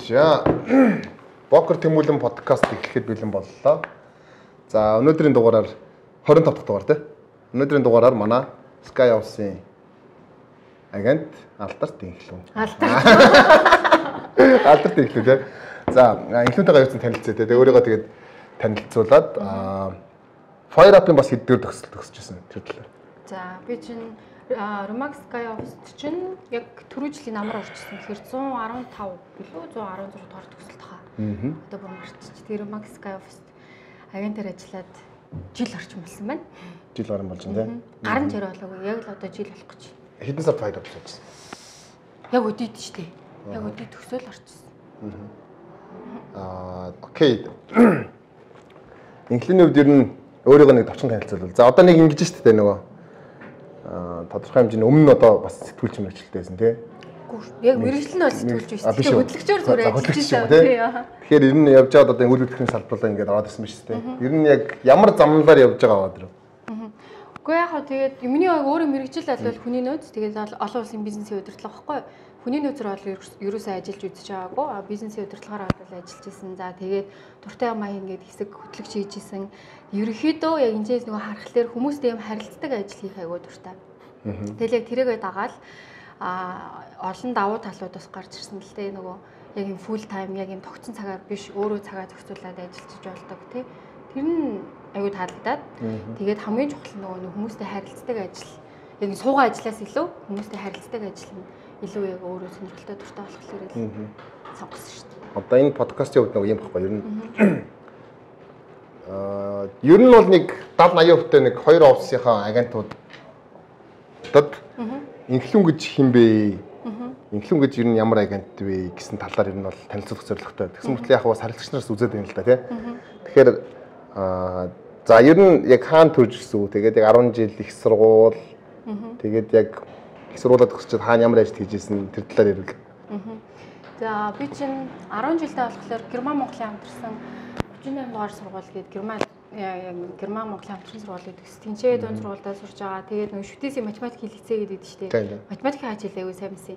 За Бокер Тэмүүлэн подкаст эхлэхэд бэлэн боллоо. За өнөөдрийн дугаараар 25 дахь дугаар тий. Өнөөдрийн дугаараар манай Sky House-ийн агент Алдарт Инхлүүн. Алдарт Инхлүүн тий. За Инхлүүнтэйгээ юусан танилцъя тий. Тэгээ өөрийгөө тэгээд танилцуулаад Fire Up-ын бас хэддгээр төгсөжсэн тэр талаар. За би чинь Romax Sky Office чинь яг түрүү жилийн намар орчихсон. Тэгэхээр 115 билүү 116 дугаар төгсөлт хаа. Одоо бүр марччих. Тэр Romax Sky Office агентаар ажиллаад жил орчим болсон байна. Жил гарсан болж байна тий. Гарын жир болоогүй. Яг л одоо жил болох гэж. Хэдэн сард Fire Up болчихсон? Яг өдийд ч тий. Яг өдийд төгсөөл орчихсон. Окей. Инхлүүний хувьд ер нь өөрийгөө нэг товчхон танилцуулбал. За одоо нэг ингэж шүү дээ нөгөө тодорхой хэмжээний өмнө одоо бас сэтгүүлч мэргэжилтэй байсан тий. Яг мэргэжил нь бол сэтгүүлч биш. Тэгэхээр хөтлөгчөөр зүгээр ажиллаж байсан тий. Тэгэхээр ер нь явж байгаад одоо үйл хөдлөлийн салбарлаа ингээд аваад ирсэн биш тий. Ер нь яг ямар замналаар явж байгаа аваад ирв. Үгүй яг хаа тэгээд миний өөрөө мэргэжил албал хүний нөөц тэгээд олон улсын бизнесийн удирдлага байхгүй. Хүний нөөцөр бол ерөөсөө ажиллаж үзэж байгаагүй. Бизнесийн удирдлагаар бол ажиллаж исэн. За тэгээд дуртай маяг ингээд хэсэг хөтлөгч хийж исэн. Ерөнхийдөө яг энэс нөгөө харахаар хүмүүстэй юм харилцдаг ажил хийх айгүй дуртай. Тэгэл яг тэрийгээ дагаад олон давуу талуудаас гарч ирсэн л дээ нөгөө яг юм full time яг юм тогтсон цагаар биш өөрөө цагаа зохицуулаад ажиллаж болдог тий. Тэр нь айгүй таалагдаад тэгээд хамгийн чухал нөгөө хүмүүстэй харилцдаг ажил яг суугаа ажиллаас илүү хүмүүстэй харилцдаг ажил нь илүү яг өөрөө сонирхолтой дуртай болохоор л сонгосон шүү дээ. Одоо энэ подкастын хувьд нэг юм баггүй ер нь ер нь бол нэг 70-80% нэг хоёр офисынхаа агентуудад Инхлүүн гэж хэм бэ? Инхлүүн гэж ер нь ямар агент вэ гэсэн талаар ер нь бол танилцуулах зорилготой. Тэгсэн мэт яг бас харилцагч нараас үзээд байна л да тий. Тэгэхээр за ер нь яг хаана төрж ирсэн үү? Тэгээд яг 10 жил их сургууль тэгээд яг их сургуулаад төгсчихэд хаана ямар ажил хийжсэн тэр талаар ярил. За би чинь 10 жилдээ болохоор Герман Монголын хамтарсан 38 дугаар сургууль гээд Герман Монголын хамтран сургуулийг төгс. Тэнцээ дунд сургуультай сурж байгаа. Тэгээд нөгөө шүтээсийн математик лицей гэдэг шүү дээ. Математикийн хажил аягүй сайн мэсэн.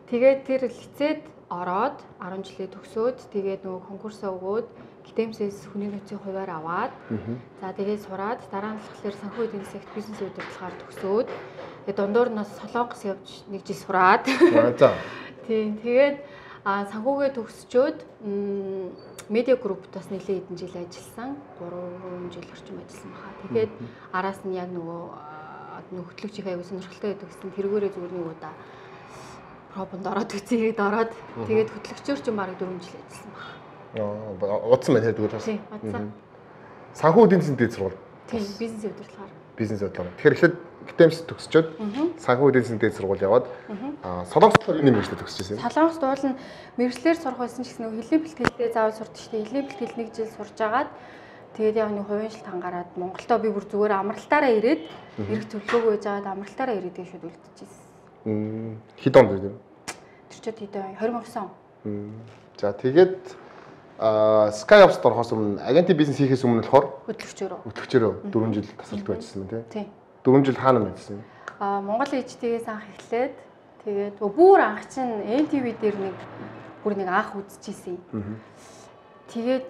Тэгээд тэр лицейд ороод 10 жилээ төгсөөд тэгээд нөгөө конкурсаа өгөөд Гитэмсээс хүний нөөцийн хуваар аваад за тэгээд сураад дараа нь болохоор санхүү эдийн засагт бизнес удирдлагаар төгсөөд тэгээд дундуур нь Солонгос явж нэг жил сураад тийм тэгээд санхүүгээ төгсчөөд медиа группт бас нэлээд хэдэн жил ажилласан. 3 жил орчим ажилласан баха. Тэгээд араас нь яг нөгөө хөтлөгчийн аягүй сонирхолтой байдаг гэсэн тэргээрээ зүгээр нэг удаа пробонд ороод үзээд ороод тэгээд хөтлөгчөөр ч бараг 4 жил ажилласан баха. Удсан байна тэгээд бас. Тийм, удсан. Санхүү эдийн засгийн дэд сургууль. Тийм, бизнес удирдлагаар. Бизнес удирдлага. Тэгэхээр эхлээд Гитэмс төгсчөөд санхүү эдийн засгийн дэд сургууль яваад Солонгост энэ мэргэжлээ төгсчихсэн. Солонгост уул нь мэргэжлэр сурах байсан ч гэсэн хэлний бэлтгэлтэй заавал сурдаг шүү дээ. Хэлний бэлтгэл нэг жил сурж агаад тэгээд яг нэг хувийн шилт хангараад Монголдоо би бүр зүгээр амралтаараа ирээд эрх төлөвлөгөө гэж аваад амралтаараа ирээд гэж шууд үлдчихсэн. Хэд онд вэ? Тэр чод хэд 2009 он. За тэгээд Sky Office орохоос өмнө агентийн бизнес хийхээс өмнө болохоор хөтлөгчөөрөө 4 жил тасалдаг ажилласан байна тий. 4 жил хаана ажилласан? Монгол ээжтэйгээс анх эхлээд тэгээд бүр анх чинь NTV дээр бүр нэг анх үзчихсэн. Тэгээд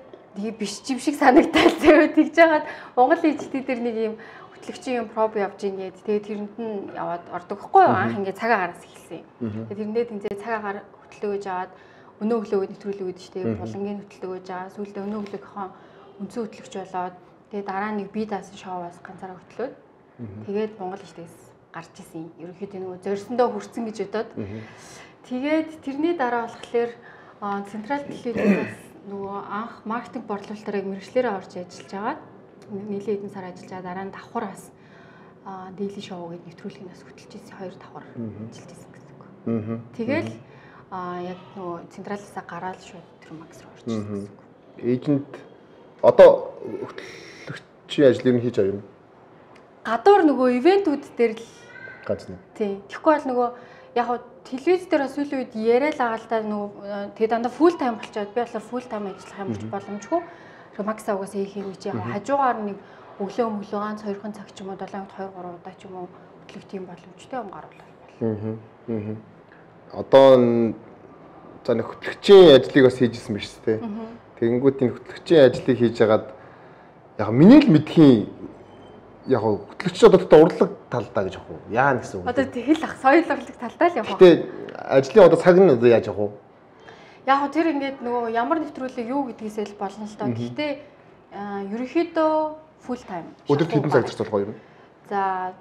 биш юм шиг санагдал зөө тэгж жагаад Монгол ээжтэй дээр нэг юм хөтлөгчийн юм проб явж ингээд тэгээд тэрэнд нь яваад ордог хгүй юу анх ингээд цагаагараас эхэлсэн. Тэгээд тэрэндээ тэнцээ цагаагаар хөтлөгөөж аваад өнөө өглөө нэвтрүүлэг өгдөө штэ булангийн хөтлөгөөж аваа сүүлдээ өнөө өглөөгийнхөө үндсэн хөтлөгч болоод тэгээд дараа нэг би даасан шоуаас ганцаараа хөтлөөд тэгээд Монгол ээжтэйгээс гарч исэн. Ерөнхийдөө нөгөө зорьсондоо хүрсэн гэж бодоод тэгээд тэрний дараа болохоор Централ телевизээс нөгөө анх маркетинг борлуулалтаар мэргэжлэрээ орж ажиллаж агаад нийлээ хэдэн сар ажиллаж дараа нь давхраас дэйли шоу гэдэг нэвтрүүлгээс хөтлөж ирсэн 2 давхар ажиллаж ирсэн гэсэн үг. Тэгэл яг нөгөө Централаасаа гараад шууд тэр Макс руу орж ирсэн гэсэн үг. Эйжент одоо хөтлөгчийн ажлыг хийж байгаа юм. Гадуур нөгөө ивентүүд дээр л ганц нэг. Тийм. Тэгэхгүй бол нөгөө яг хуу телевиз дээр сүүлийн үед яриа л агаалтаа нөгөө тэгээ дандаа full time болчиход би болохоор full time ажиллах юм боломжгүй. Макса угаасаа хийх юм чи яг хажуугаар нэг өглөө ганц 2 цаг ч юм уу 7-д 2-3 удаа ч юм уу хөтлөх тийм боломжтой юм гарвал. Одоо за нэг хөтлөгчийн ажлыг бас хийжсэн биш үү? Тэгэнгүүт энэ хөтлөгчийн ажлыг хийж хагаад яг миний л мэдхийн яг хөтлөгч одоо урлаг талдаа гэж явах уу? Яа гэсэн үг. Одоо тэгэл ах соёл урлаг талдаа л явах. Гэтэ ажлын одоо цаг нь одоо яаж явах уу? Яг тэр ингээд нөгөө ямар нэвтрүүлэг юу гэдгийсээ л болно л доо. Гэхдээ ерөнхийдөө full time. Өдөрт хэдэн цаг зарцуулах вэ? За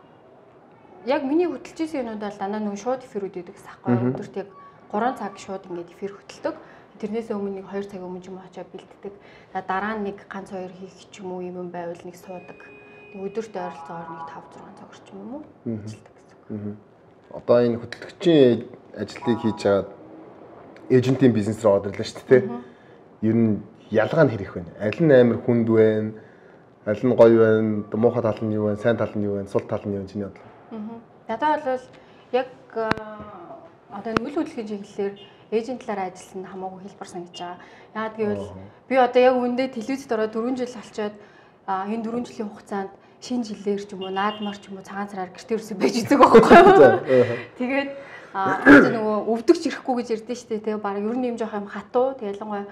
яг миний хөтөлж исэн юмуд бол дандаа нөгөө шууд эфирүүд өгдөг гэсэн аахгүй. Өдөрт яг 3 цаг шууд ингээд эфир хөтэлдэг. Тэрнээс өмнө нэг 2 цаг өмнө ч юм уу очиад бэлддэг. Дараа нь нэг ганц 2 хийх ч юм уу юм байвал нэг суудаг. Тэг өдөрт ойролцоогоор нэг 5 6 цаг орчим юм уу ажилладаг гэсэн. Одоо энэ хөтөлгчийн ажлыг хийж чаад эйжентийн бизнес рүү ороод ирлээ шүү дээ. Ер нь ялгаа нь хэрэг вэ? Аль нь амар хүнд вэ? Аль нь гоё вэ? Муухай тал нь юу вэ? Сайн тал нь юу вэ? Сул тал нь юу вэ? Чиний бодлоо. Надад бол яг одоо нүүл хөдөлгөөний чиглэлээр эйжентлаараа ажилласан хамаагүй хэлбэр санагдаж байгаа. Яагаад гэвэл би одоо яг үндэ телевизэд ороод 4 жил болчоод энэ 4 жилийн хугацаанд шинэ жилээр ч юм уу наадмаар ч юм уу цагаан сараар гэртээ өрсөн байж үзэг байхгүй юу. Тэгээд нөгөө өвдөгч ирэхгүй гэж ярьдэн шүү дээ. Тэгээ баг ер нь юм жоох юм хатуу. Тэгээ ялангуяа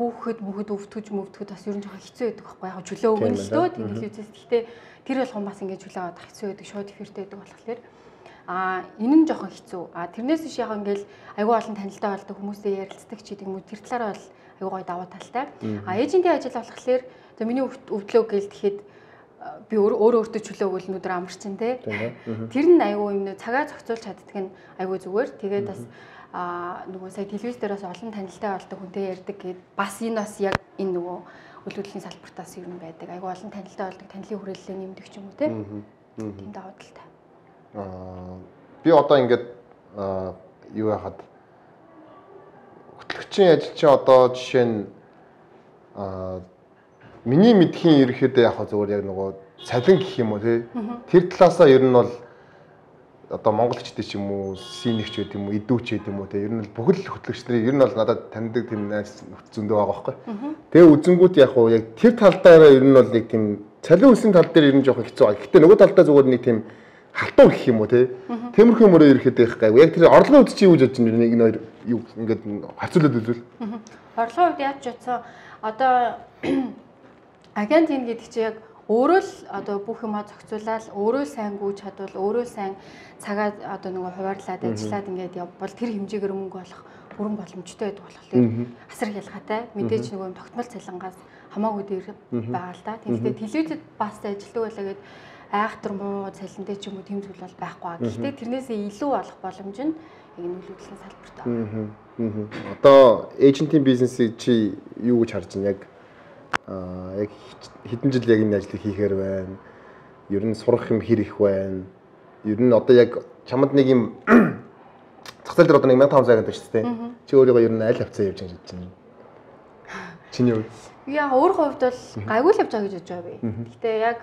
хүүхэд мөхөд өвдгөж бас ер нь жоох хэцүү байдаг байхгүй яг чөлөө өгнө л дөө телевизээс. Гэхдээ тэр болгон бас ингэж чөлөө авах хэцүү байдаг. Шууд эфиртэй байдаг болохоор энэ нь жоохон хэцүү. Тэрнээс биш яг ингээл аюу олон танилтай болдог хүмүүстэй ярилцдаг ч гэдэг юм уу. Тэр талаараа бол аюу гой даваа талтай. Эйжентийн ажил болохоор за миний өвдлөө гээл тэгэхэд би өөртөө чөлөө өгөл нүдэр амарчин те. Тэр нь аюу юм нэ цагаа зохицуулж чаддаг нь аюу зүгээр. Тэгээд бас нөгөө сая телевиз дээрээс олон танилтай болдог хүнтэй ярьдаг гэд бас энэ бас яг энэ нөгөө үйл хөдлөлийн салбартаас ер нь байдаг. Аюу олон танилтай болдог, танилын хүрээлэлээ нэмдэг ч юм уу те. Тийм даваа талтай. Би одоо ингээд юу яхад хөтлөгчийн ажил чинь одоо жишээ нь миний мэдхийн ерөөхдөө яг зүгээр яг нөгөө цалин гэх юм уу тий. Тэр талаасаа ер нь бол одоо монголчдын ч юм уу синэгч гэдэг юм уу идүүч гэдэг юм уу тий. Ер нь бол бүхэл хөтлөгч нарыг ер нь бол надад таньдаг тийм найз зөндөө байгаа байхгүй. Тэгээ үзэнгүүт яг уу яг тэр талдаараа ер нь бол нэг тийм цалин өссөн тал дээр ер нь жоохон хэцүү байгаа. Гэхдээ нөгөө талдаа зүгээр нэг тийм халтур гэх юм уу тий. Тиймэрхүү мөрөө ерөөхдөө их гайгүй. Яг тэр орлогын үед чи юу гэж бодож байна? Энэ хоёр юу ингээд харьцуулаад үзвэл. Орлогын үед яаж ч утсан одоо агент ин гэдэг чи яг өөрөө л одоо бүх юмаа зохицуулаад өөрөө сайн гүйж чадвал өөрөө сайн цагаа одоо нөгөө хуваарлаад ажиллаад ингээд явбал тэр хэмжээгээр мөнгө олох бүрэн боломжтой байдаг болохоор асар ялгаатай мэдээж нөгөө тогтмол цалингаас хамаагүй дээр байгаа л да. Тэгэхдээ телевизэд бас ажилладаг байлаа гэд айхтар муу цалинтай ч юм уу тийм зүйл бол байхгүй. Гэхдээ тэрнээсээ илүү олох боломж нь яг нүүл хөдлөлийн салбарт байна. Одоо эйжентийн бизнесийг чи юу гэж харж байна? Яг хэдэн жил яг энэ ажлыг хийхээр байна? Ер нь сурах юм хэр их байна? Ер нь одоо яг чамд нэг юм зах зээл дээр одоо 1500 гэдэг шүү дээ. Чи өөрийгөө ер нь аль хавцаа явж байгаа гэж байна? Чиний хувьд? Яг өөр хувьд бол гайгүй л явж байгаа гэж бодож байгаа би. Гэхдээ яг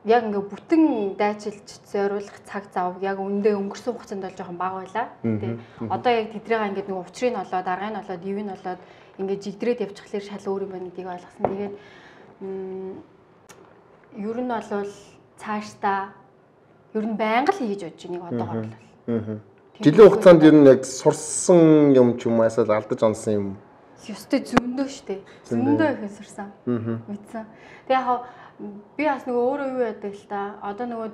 ингээ бүтэн дайчилж зориулах цаг зав яг үндэ өнгөрсөн хугацаанд бол жоохон бага байлаа. Тэ. Одоо яг тэдрээгээ ингээ нэг учрыг нь олоод, аргыг нь олоод, ивийг нь олоод ингээ жигдрээд явчихлаар шал өөр юм байна гэдгийг ойлгосон. Тэгээд ер нь бол цаашдаа ер нь байнга л хийж бодож байгааг одоогоор л. Жилийн хугацаанд ер нь яг сурсан юм ч юм уу эсвэл алдаж онсон юм. Ёстой зөндөө штэ. Зөндөө их сурсан. Мэдсэн. Тэгээ яг би бас нөгөө өөрөө юу яадаг л та. Одоо нөгөө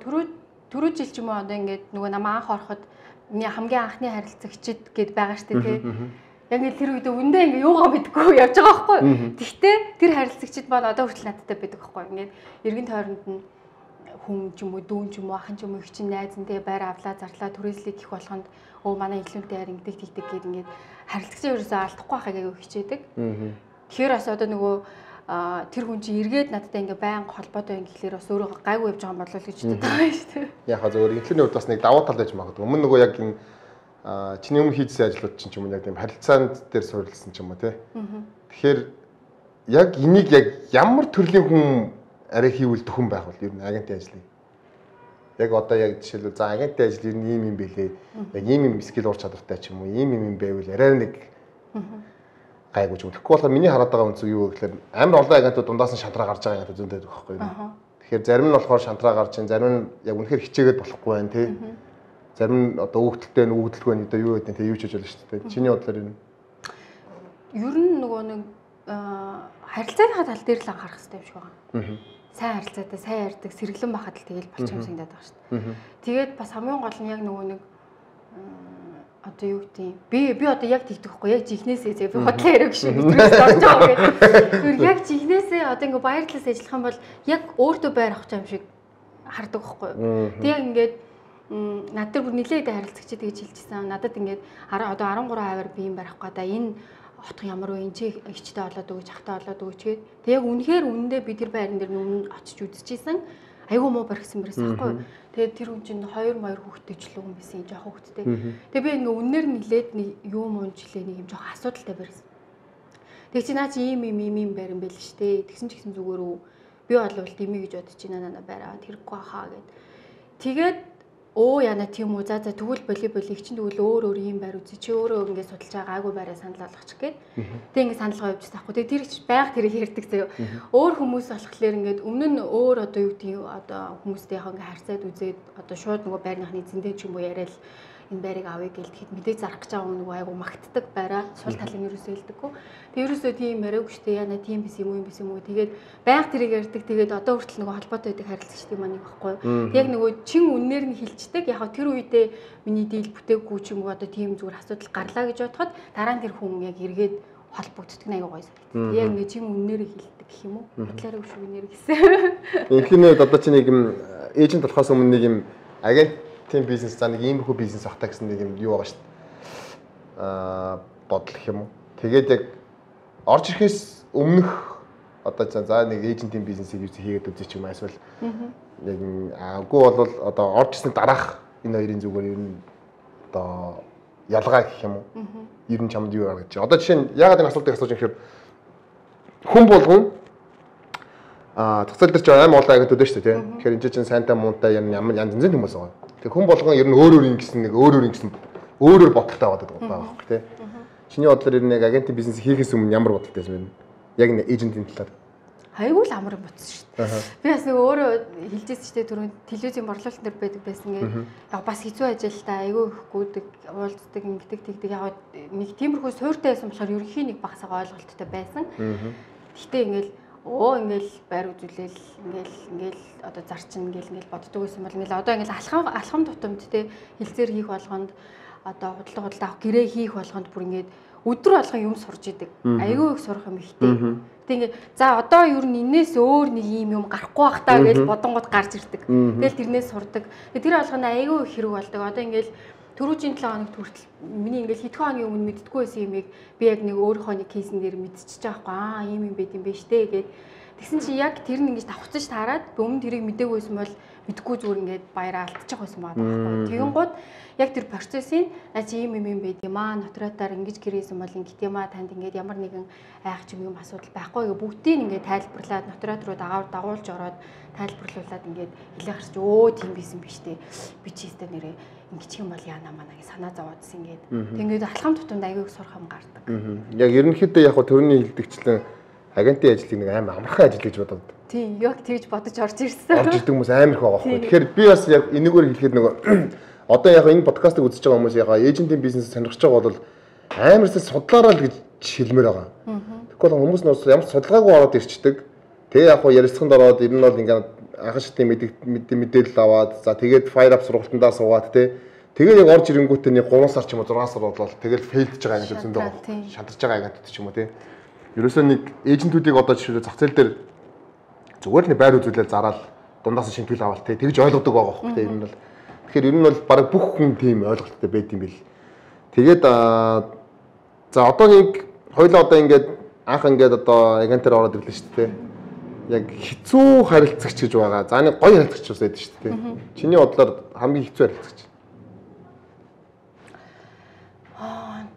түрүү жил ч юм уу одоо ингээд нөгөө намаа анх ороход миний хамгийн анхны харилцагчид гэд байгаа штэ тий. Яг ингээд тэр үед өндөө ингээд юугаа мэдгүй явж байгаа байхгүй. Тэгтээ тэр харилцагчид маань одоо хүртэл надтай байдаг байхгүй. Ингээд эргэн тойронд нь хүн ч юм уу дүүн ч юм уу ахын ч юм уу их чинь найз нь тэгээ байр авлаа зарлаа түрээслийг их болгонд өө манай инфлюенсер хайр ингэдэг тэгдэг гэд ингээд харилцагчаа ерөөсөө алдахгүй байхыг аягүй хичээдэг. Тэгэхээр бас одоо нөгөө тэр хүн чинь эргээд надтай ингээ байнга холбоотой юм гэхлээр бас өөрөө гайгүй явж байгаа юм болов уу гэж боддог байгаа шүү дээ. Яг хаа зөвөр инфлюенсерийн хувьд бас нэг давуу тал байж магадгүй. Өмнө нөгөө яг энэ чиний өмнө хийжсэн ажлууд чинь ч юм уу яг тийм харилцаанд дээр суурилсан ч юм уу тий. Тэгэхээр яг энийг яг ямар төрлийн хүн арай хийвэл төхөн байх бол ер нь агентийн ажлыг. Яг одоо яг жишээлбэл за агентийн ажил ер нь ийм юм бэлээ. Яг ийм скил ур чадвартай ч юм уу ийм юм байвал арай нэг гайгүй ч үгүй болохоор миний хараад байгаа үнцэг юу гэхээр амар олон агентууд дундаас нь шантраа гарч байгаа агентууд зөндөө байхгүй юу. Тэгэхээр зарим нь болохоор шантраа гарч ин зарим нь яг үнэхээр хичээгээд болохгүй байх тий. Зарим нь одоо өгдөлтэй нь өгдөлгүй нь одоо юу гэдэг нь тэг юу ч хийж болно шүү дээ. Чиний бодлоор юу? Ер нь нөгөө нэг харилцааныхаа тал дээр л анхаарах хэрэгтэй юм шиг байгаа. Сайн харилцаатай, сайн ярьдаг, сэргэлэн байхад л тэгэл болчих юм санагдаад байгаа шүү дээ. Тэгээд бас хамгийн гол нь яг нөгөө нэг одоо юу гэдэг би одоо яг тэгдэг хгүй яг жихнээсээ би бодлоо ярих шиг бидрээс орж байгаа гэдэг. Тэр яг жихнээсээ одоо ингээ баяр талаас ажиллах юм бол яг өөртөө байр авах юм шиг хардаг хгүй. Тэг ингээд над дээр бүр нилээд харилцагч тэгж хэлчихсэн. Надад ингээд одоо 13% би юм барих гэдэг. Энэ отох ямар вэ? Энд чи ичтэй болоод өгч, хахтай болоод өгч гээд. Тэг яг үнэхээр үнэндээ би тэр байран дээр өмнө очиж үзчихсэн. Айгуу муу барьсан байхгүй. Тэгээд тэр хүн чинь 2 хүүхэдтэй ч л юм байсан юм жоохон хүүхэдтэй. Тэгээд би ингээ үнээр нилээд юу муу жилээ нэг юм жоохон асуудалтай барьсан. Тэг чи наа чи ийм барин байл штэ. Тэгсэн ч гэсэн зүгээр үү. Би болвол димий гэж бодож байна нана бараа тэрхгүй хаа гэд. Тэгээд яна тийм үү за тэгвэл боли чинь тэгвэл өөр юм байр үзье чи өөрөө ингэ судалж байгаа айгу байраа санал болгочих гээд тэг ингэ саналгаа явуулчих таахгүй тэг тэр их байг тэрийг ярьдаг заяа өөр хүмүүс болохоор ингээд өмнө нь өөр одоо юу гэдэг одоо хүмүүстэй яг ингэ харьцаад үзээд одоо шууд нөгөө байрныхны зэндээ ч юм уу яриад энэ байрыг авъя гэж тэгэхэд мэдээ зарах гэж байгаа нөгөө айгу магтдаг байраа сул талын ерөөсөө хэлдэггүй тэг ерөөсөө тийм яриаггүй штэ яна тийм биш юм уу тэгээд байг тэрийг ярьдаг тэгээд одоо хүртэл нөгөө холбоотой байдаг харилцагчдын маань байхгүй яг нөгөө чин үннээр нь хэлцдэг яг тэр үедээ миний дийл бүтээгүй ч юм уу одоо тийм зүгээр асуудал гарлаа гэж бодоход дараа нь тэр хүн яг эргээд холбогддог айгу гоё санагдав. Яг ингэ чин үннээр хэлдэг гэх юм уу? Батлаараа өшөө нэр гэсэн. Инхийнэ одоо чи нэг юм эйжент болохоос өмнө нэг юм агентийн бизнес за нэг иймэрхүү бизнес ахтаа гэсэн нэг юм юу байгаа шүү дээ. Бодол гэх юм уу? Тэгээд яг орж ирэхээс өмнөх одоо за нэг эйжентийн бизнесийг юу хийгээд үзчих юм эсвэл яг агуу бол одоо орж ирсний дараах энэ хоёрын зүгээр ер нь одоо ялгаа гэх юм уу? Ер нь чамд юу гаргаж. Одоо жишээ нь ягаад энэ асуултыг асууж юм гэхээр хүн болгон зохицол дээр ч аим олон агентууд шүү дээ тийм. Тэгэхээр энэ чинь сайнтай муунтай ямар янз янзын хүмүүс байгаа. Тэгэхээр хүн болгон ер нь өөр ингэсэн өөрөөр бодолтой байдаг байгаа байхгүй тийм. Чиний бодлоор ер нь яг агентийн бизнес хийхээс өмнө ямар бодолтой байсан бэ? Яг нэг эйжентийн талаар. Айгүй л амар бодсон шүү дээ. Би бас нэг өөрөө хэлжсэн шүү дээ түрүүн телевизийн борлуулалт дээр байдаг байсан ингээд яг бас хэцүү ажилтаа айгүй ихгүй уулздаг ингэдэг тэгдэг яг нэг тиймэрхүү суйртай байсан болохоор ерөнхийн нэг багсаа ойлголттой байсан. Гэхдээ ингээл ингээл байр үзүүлэл ингээл одоо зарчин ингээл боддог байсан бол ингээл одоо ингээл алхам тутамд те хилцээр хийх болгонд одоо худалдаа авах гэрээ хийх болгонд бүр ингээд өдөр болгон юм сурж идэг. Айгүй их сурах юм ихтэй. Тэг ингээд за одоо ер нь энээс өөр нэг юм гарахгүй бах таа гэж бодонгууд гарч ирдэг. Тэгэл тэрнээс сурдаг. Тэр болгоно айгүй их хэрэг болдог. Одоо ингээд түрүүжийн 7 хоногт хүртэл миний ингээд хэдхэн хоногийн өмнө мэддэггүй байсан юмыг би яг нэг өөрийнхөө нэг кейсэн дээр мэдчихэж байгаа байхгүй ийм юм байт юм бэ штэ гэд. Тэгсэн чи яг тэр нь ингэж давхцаж таарад өмнө тэрийг мэдээгүй байсан бол мэдгүй зүгээр ингээд баяраа алдчих байсан байгаа байхгүй. Тэгэн гууд яг тэр процессын чи ийм юм байд юм аа нотариатаар ингэж гэрээсэн бол ингэт юм аа танд ингээд ямар нэгэн айх ч юм асуудал байхгүй гэ бүгдийг ингээд тайлбарлаад нотариат руу дагуулж ороод тайлбарлуулад ингээд хэлэх хэрэг тийм байсан биш үү би ч ихтэй нэрээ ингэчих юм бол яана манаа гэж санаа зовоодсэн ингээд тэгээд алхам тутамд аягүй сурах юм гардаг. Яг ерөнхийдөө яг төрөний хэлдэгчлэн агентийн ажлыг нэг амар амархан ажил гэж бодоод. Тийм яг тэгж бодож орж ирсэн. Орж ирдэг хүмүүс амар их байгаа байхгүй. Тэгэхээр би бас яг энэгээр хэлэхэд нөгөө одоо яг энэ подкастыг үзэж байгаа хүмүүс яг эйжентийн бизнес сонирхож байгаа бол амарсаа судлаараа л гэж хэлмээр байгаа. Тэгэхгүй хүмүүс нь ямар судалгаагүй ороод ирчдэг. Тэгээ яг ярилцлаганд ороод ер нь бол ингээд анхан шатны мэдээлэл аваад за тэгээд fire up сургалтандаа суугаад тэгээд яг орж ирэнгүүтээ нэг 3 сар ч юм уу 6 сар болоод тэгэл фейлдж байгаа агент зөндөө байгаа. Шантарч байгаа агентууд ч юм уу Ерөөсөө нэг эйжентүүдийг одоо жишээ зах зээл дээр зүгээр л нэг байр үзүүлэл зараад дундаас шимтгэл аваад тэгж ойлгодог байгаа байхгүй тийм юм бол. Тэгэхээр ер нь бол баг бүх хүн тийм ойлголттой байд юм бэл. Тэгээд за одоо нэг хоёлаа одоо ингээд анх ингээд одоо агентаар ороод ирлээ шүү дээ. Яг хэцүү харилцагч гэж байгаа. За нэг гоё харилцагч бас байдаг шүү дээ. Чиний бодлоор хамгийн хэцүү харилцагч.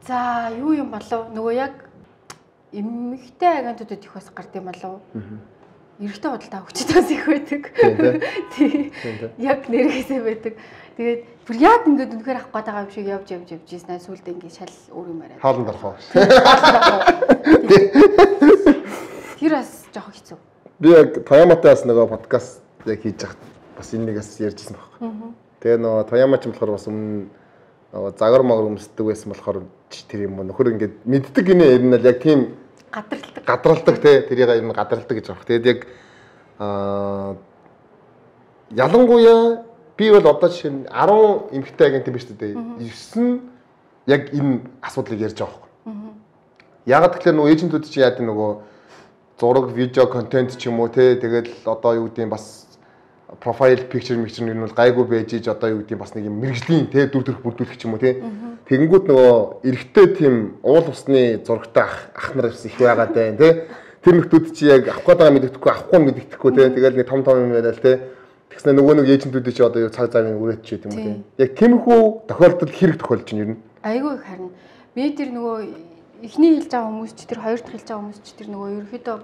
За юу юм болов? Нөгөө яг эмэгтэй агентуудад их бас гард юм болов. Эрэгтэй худалдаа өгчд бас их байдаг. Тийм. Яг нэргээсээ байдаг. Тэгээд бүр яг ингээд үнэхээр авах гээд байгаа юм шиг явж ийсэн. Сүүлдээ ингээд шал өөр юм яриад. Хаалт орох. Тэр бас жоох хэцүү. Би яг Тояматай бас нөгөө подкаст яг хийж хахад бас энэ нэгээс ярьжсэн байхгүй. Тэгээ нөгөө Тояма ч юм болохоор бас өмнө нөгөө загвар магар өмсдөг байсан болохоор тэр юм нөхөр ингээд мэддэг гинэ ер нь л яг тийм гадралдаг те тэрийг ер нь гадралдаг гэж байна. Тэгээд яг ялангуяа би бол одоо жишээ нь 10 эмэгтэй агент юм биш үү? 9 нь яг энэ асуудлыг ярьж байгаа байхгүй. Ягаад гэвэл нөгөө эйжентүүд чи яадаг нөгөө зураг, видео, контент ч юм уу те тэгэл одоо юу гэдэг бас профайл picture mixture нь бол гайгүй байж иж одоо юу гэдэг бас нэг юм мэрэгжлийн те дүр төрх бүрдүүлэх ч юм уу те. Тэгэнгүүт нөгөө эрэгтэй тийм уул усны зурагтай ах нар их байгаад байна те. Тэр нөхдүүд чи яг авах гээд байгаа мэддэхгүй авахгүй мэддэхгүй те. Тэгэл нэг том юм яриад те. Тэгснэ нөгөө нэг эйжентүүд чи одоо цаг цагийн үрээч ч юм уу те. Яг тиймэрхүү тохиолдол хэрэг тохиолж байна ер нь. Айгүй их харин. Би тэр нөгөө эхний хэлж байгаа хүмүүс ч тэр хоёр дахь хэлж байгаа хүмүүс ч тэр нөгөө ерөөхдөө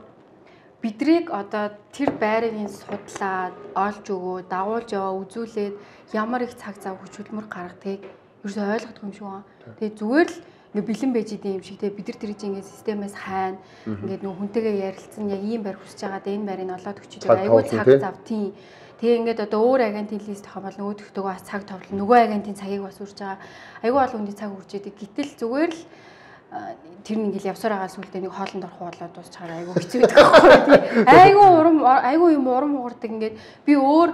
бидрийг одоо тэр байрыг судлаад олж өгөө, дагуулж яваа, үзүүлээд ямар их цаг зав хүч хөдөлмөр гаргадгийг ерөөсөй ойлгохгүй юм шиг байна. Тэгээ зүгээр л ингээ бэлэн байж идэм юм шиг те бид нар тэр чинь ингээ системээс хайна. Ингээ нөгөө хүнтэйгээ ярилцсан яг ийм байр хүсэж байгаа да энэ байрыг олоод өчөж айгүй цаг зав тийм. Тэгээ ингээд одоо өөр агентийн лист авах бол нөгөөдөгтөө бас цаг товлон нөгөө агентийн цагийг бас үрж байгаа. Айгүй олон хүний цаг үрж идэг. Гэтэл зүгээр л тэр нэг ингээл явсаар байгаа сүлдээ нэг хоолнд орох болоод дуусчаар айгүй хэцүү байдаг байхгүй. Айгүй юм урам хугардаг ингээд би өөр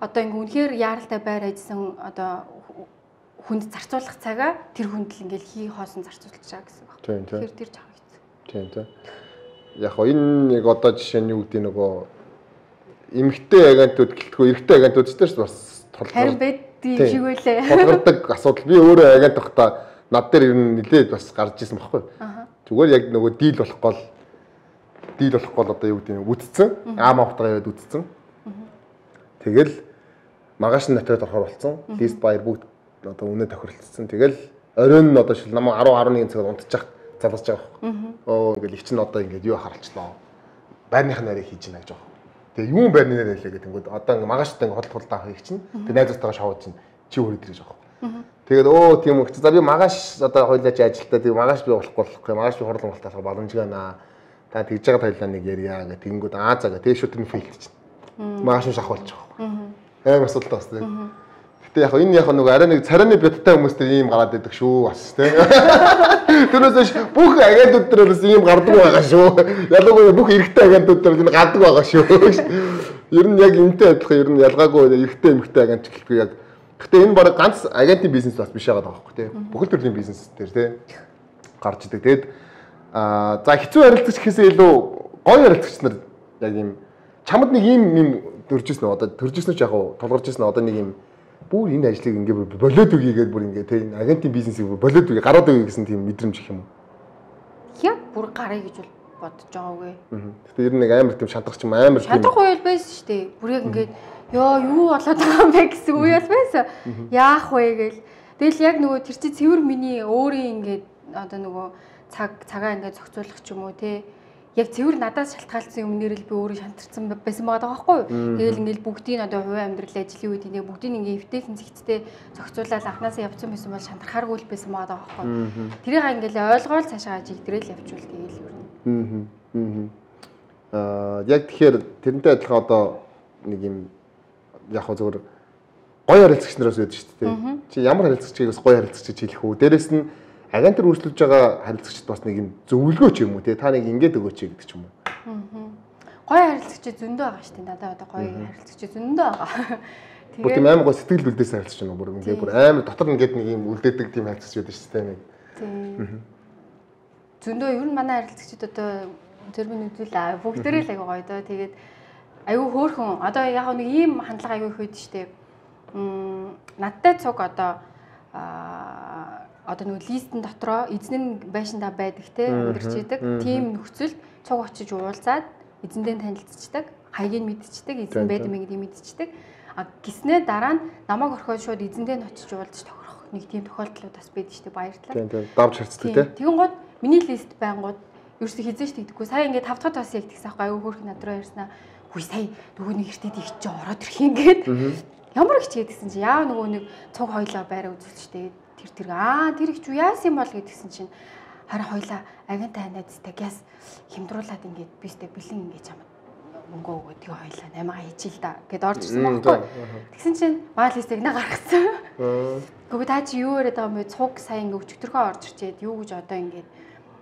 одоо ингээ үнэхээр яаралтай байр ажилласан одоо хүнд зарцуулах цагаа тэр хүнд л ингээл хий хоосон зарцуулж байгаа гэсэн баг. Тэгэхээр тэр жаа хэцүү. Тийм тийм. Яг хоо энэ нэг одоо жишээ нь юу гэдэг нөгөө эмэгтэй агентууд гэлтгүй эрэгтэй агентууд ч гэсэн бас харин байдгийн шиг үлээ. Тулгардаг асуудал. Би өөрөө агент байхдаа над дээр ер нь нилээд бас гарч ирсэн байхгүй. Зүгээр яг нөгөө дийл болохгүй одоо юу гэдэг нь үтцсэн. Авахтаа яваад үтцсэн. Тэгэл магаш нь натад орохоор болсон. Лист баяр бүгд одоо үнэ тохиролцсон. Тэгэл оройн нь одоо шил намаа 10-11 цагаар унтчих залгаж байгаа байхгүй. Оо ингээл их чинь одоо ингээд юу харалчлаа. Байрных нарыг хийж гинэ гэж байгаа. Тэгээ юун байрны нэр хэлээ гэдэг нь одоо ингээ магаштай ингээ худалдаах хийх чинь. Тэгээ найзуудтайгаа шоуд чинь чи өөрөө дэрэж байгаа. Тэгээд өө тийм үү. За би магаш одоо хойлооч ажилтаа тэгээ магаш би болохгүй. Магаш би хорлон болтаалах боломжгүй наа. Та тэгж байгаа тайлаа нэг ярья гэх тэгэнгүүт заа гэх тэгээ шууд тэр фейлд чинь. Магаш нь шахуулж байгаа. Амар асуудалтай бас тийм. Гэтэ яг энэ яг нөгөө арай нэг царайны бядтай хүмүүстэй ийм гараад байдаг шүү бас тийм. Тэрнээс бүх агентууд төрөөс ийм гардаг байгаа шүү. Ялангуяа бүх эрэгтэй агентууд төрөөс энэ гадаг байгаа шүү. Ер нь яг энэтэй адилхан ер нь ялгаагүй эрэгтэй эмэгтэй агент гэлгүй яг. Гэтэ энэ баг ганц агентийн бизнес бас биш байгаа байхгүй тийм. Бүхэл төрлийн бизнес дээр тийм гарч идэг. Тэгэд за хэцүү харилцагч гэхээсээ илүү гоё харилцагч нар яг ийм чамд нэг ийм төржсэн одоо төржсэн ч яг тулгарч ирсэн одоо нэг ийм бүр энэ ажлыг ингээ болоод үгүй гэдээ бүр ингээ тийм агентийн бизнесийг болоод үгүй гараад үгүй гэсэн тийм мэдрэмж их юм уу? Яг бүр гарыг гэж бодож байгаагүй. Гэтэ ер нь нэг амар тийм шантрах юм амар тийм шантрах үйл байсан шүү дээ. Бүр яг ингээ ёо юу болоод байгаа юм бэ гэсэн үйл байсан. Яах вэ гээл. Тэгэл яг нөгөө тэр чи цэвэр миний өөрийн ингээ одоо нөгөө цагаа ингээ зохицуулах ч юм уу те. Яг цэвэр надаас шалтгаалсан юмнэр л би өөрөө шантарсан байсан байгаа байхгүй юу. Тэгэл ингээл бүгдийг одоо хувийн амьдрал ажлын үед ингээ бүгдийг ингээ эвтэйхэн зэгцтэй зохицуулаад анханасаа явцсан байсан бол шантархааргүй л байсан байгаа байхгүй юу. Тэрийг ингээл ойлгоол цаашаа жигдрэл явуул тэгэл юу. Яг тэгэхээр тэрнтэй адилхан одоо нэг юм яг хөө зөвөр гоё харилцагч нараас үүдэж шүү дээ. Чи ямар харилцагчийг бас гоё харилцагч хэлэх үү? Дээрэс нь агентар үргэлжлүүлж байгаа харилцагчд бас нэг юм зөвлөгөө ч юм уу те та нэг ингэж өгөөч гэдэг ч юм уу. Гоё харилцагч зөндөө байгаа шүү дээ. Надад одоо гоё харилцагч зөндөө байгаа. Тэгээд тийм амар гоё сэтгэл үлдээс харилцагч юм уу? Бүр ингэ бүр амар дотор ингээд нэг юм үлдээдэг тийм харилцагч байдаг шүү дээ. Тийм. Зөндөө ер нь манай харилцагчид одоо тэрбэн үзүүлээ. Бүгдээрээ л аягүй гоё доо. Тэгээд аягүй хөөрхөн. Одоо яг нэг ийм хандлага аягүй их байдаг шүү дээ. Надтай цуг одоо нэг листэн дотроо эзэн нь байшиндаа байдаг те өндөрч идэг. Тим нөхцөлд цуг очиж уулзаад эзэндээ танилцчихдаг, хаягийг мэдчихдэг, эзэн байдаг мэй гэдгийг мэдчихдэг. Гиснээ дараа нь намайг орхиод шууд эзэндээ нь очиж уулзаж тохирох нэг тийм тохиолдлууд бас байдаг шүү дээ. Баярлалаа. Тийм давж харцдаг те. Тэгэн гол миний лист байнгут ерөөсө хизээш тэгдэггүй. Сая ингээд 5 дахь бас яг тэгсэн аахгүй аюу хөөрхөн надруу ярьснаа. Хүй сая нөгөө нэг эртэд их чи ороод ирэх юм гээд. Ямар их ч гэдгсэн чи яа нөгөө нэг цуг хойлоо байраа үзүүлчихтэй. Тэр их ч яасан юм бол гэдгсэн чинь харин хоёлаа агент найзтай газ хямдруулаад ингээд бистэй бэлэн ингээд чамд мөнгө өгөөд тэгээ хоёлаа 8-аа хийчихэл та гэд орж ирсэн байхгүй. Тэгсэн чинь маал стигнэ гаргацсан. Гэхдээ та чи юу яриад байгаа юм бэ? Цуг сая ингээ өчтөрхөө орж ирчээд юу гэж одоо ингээд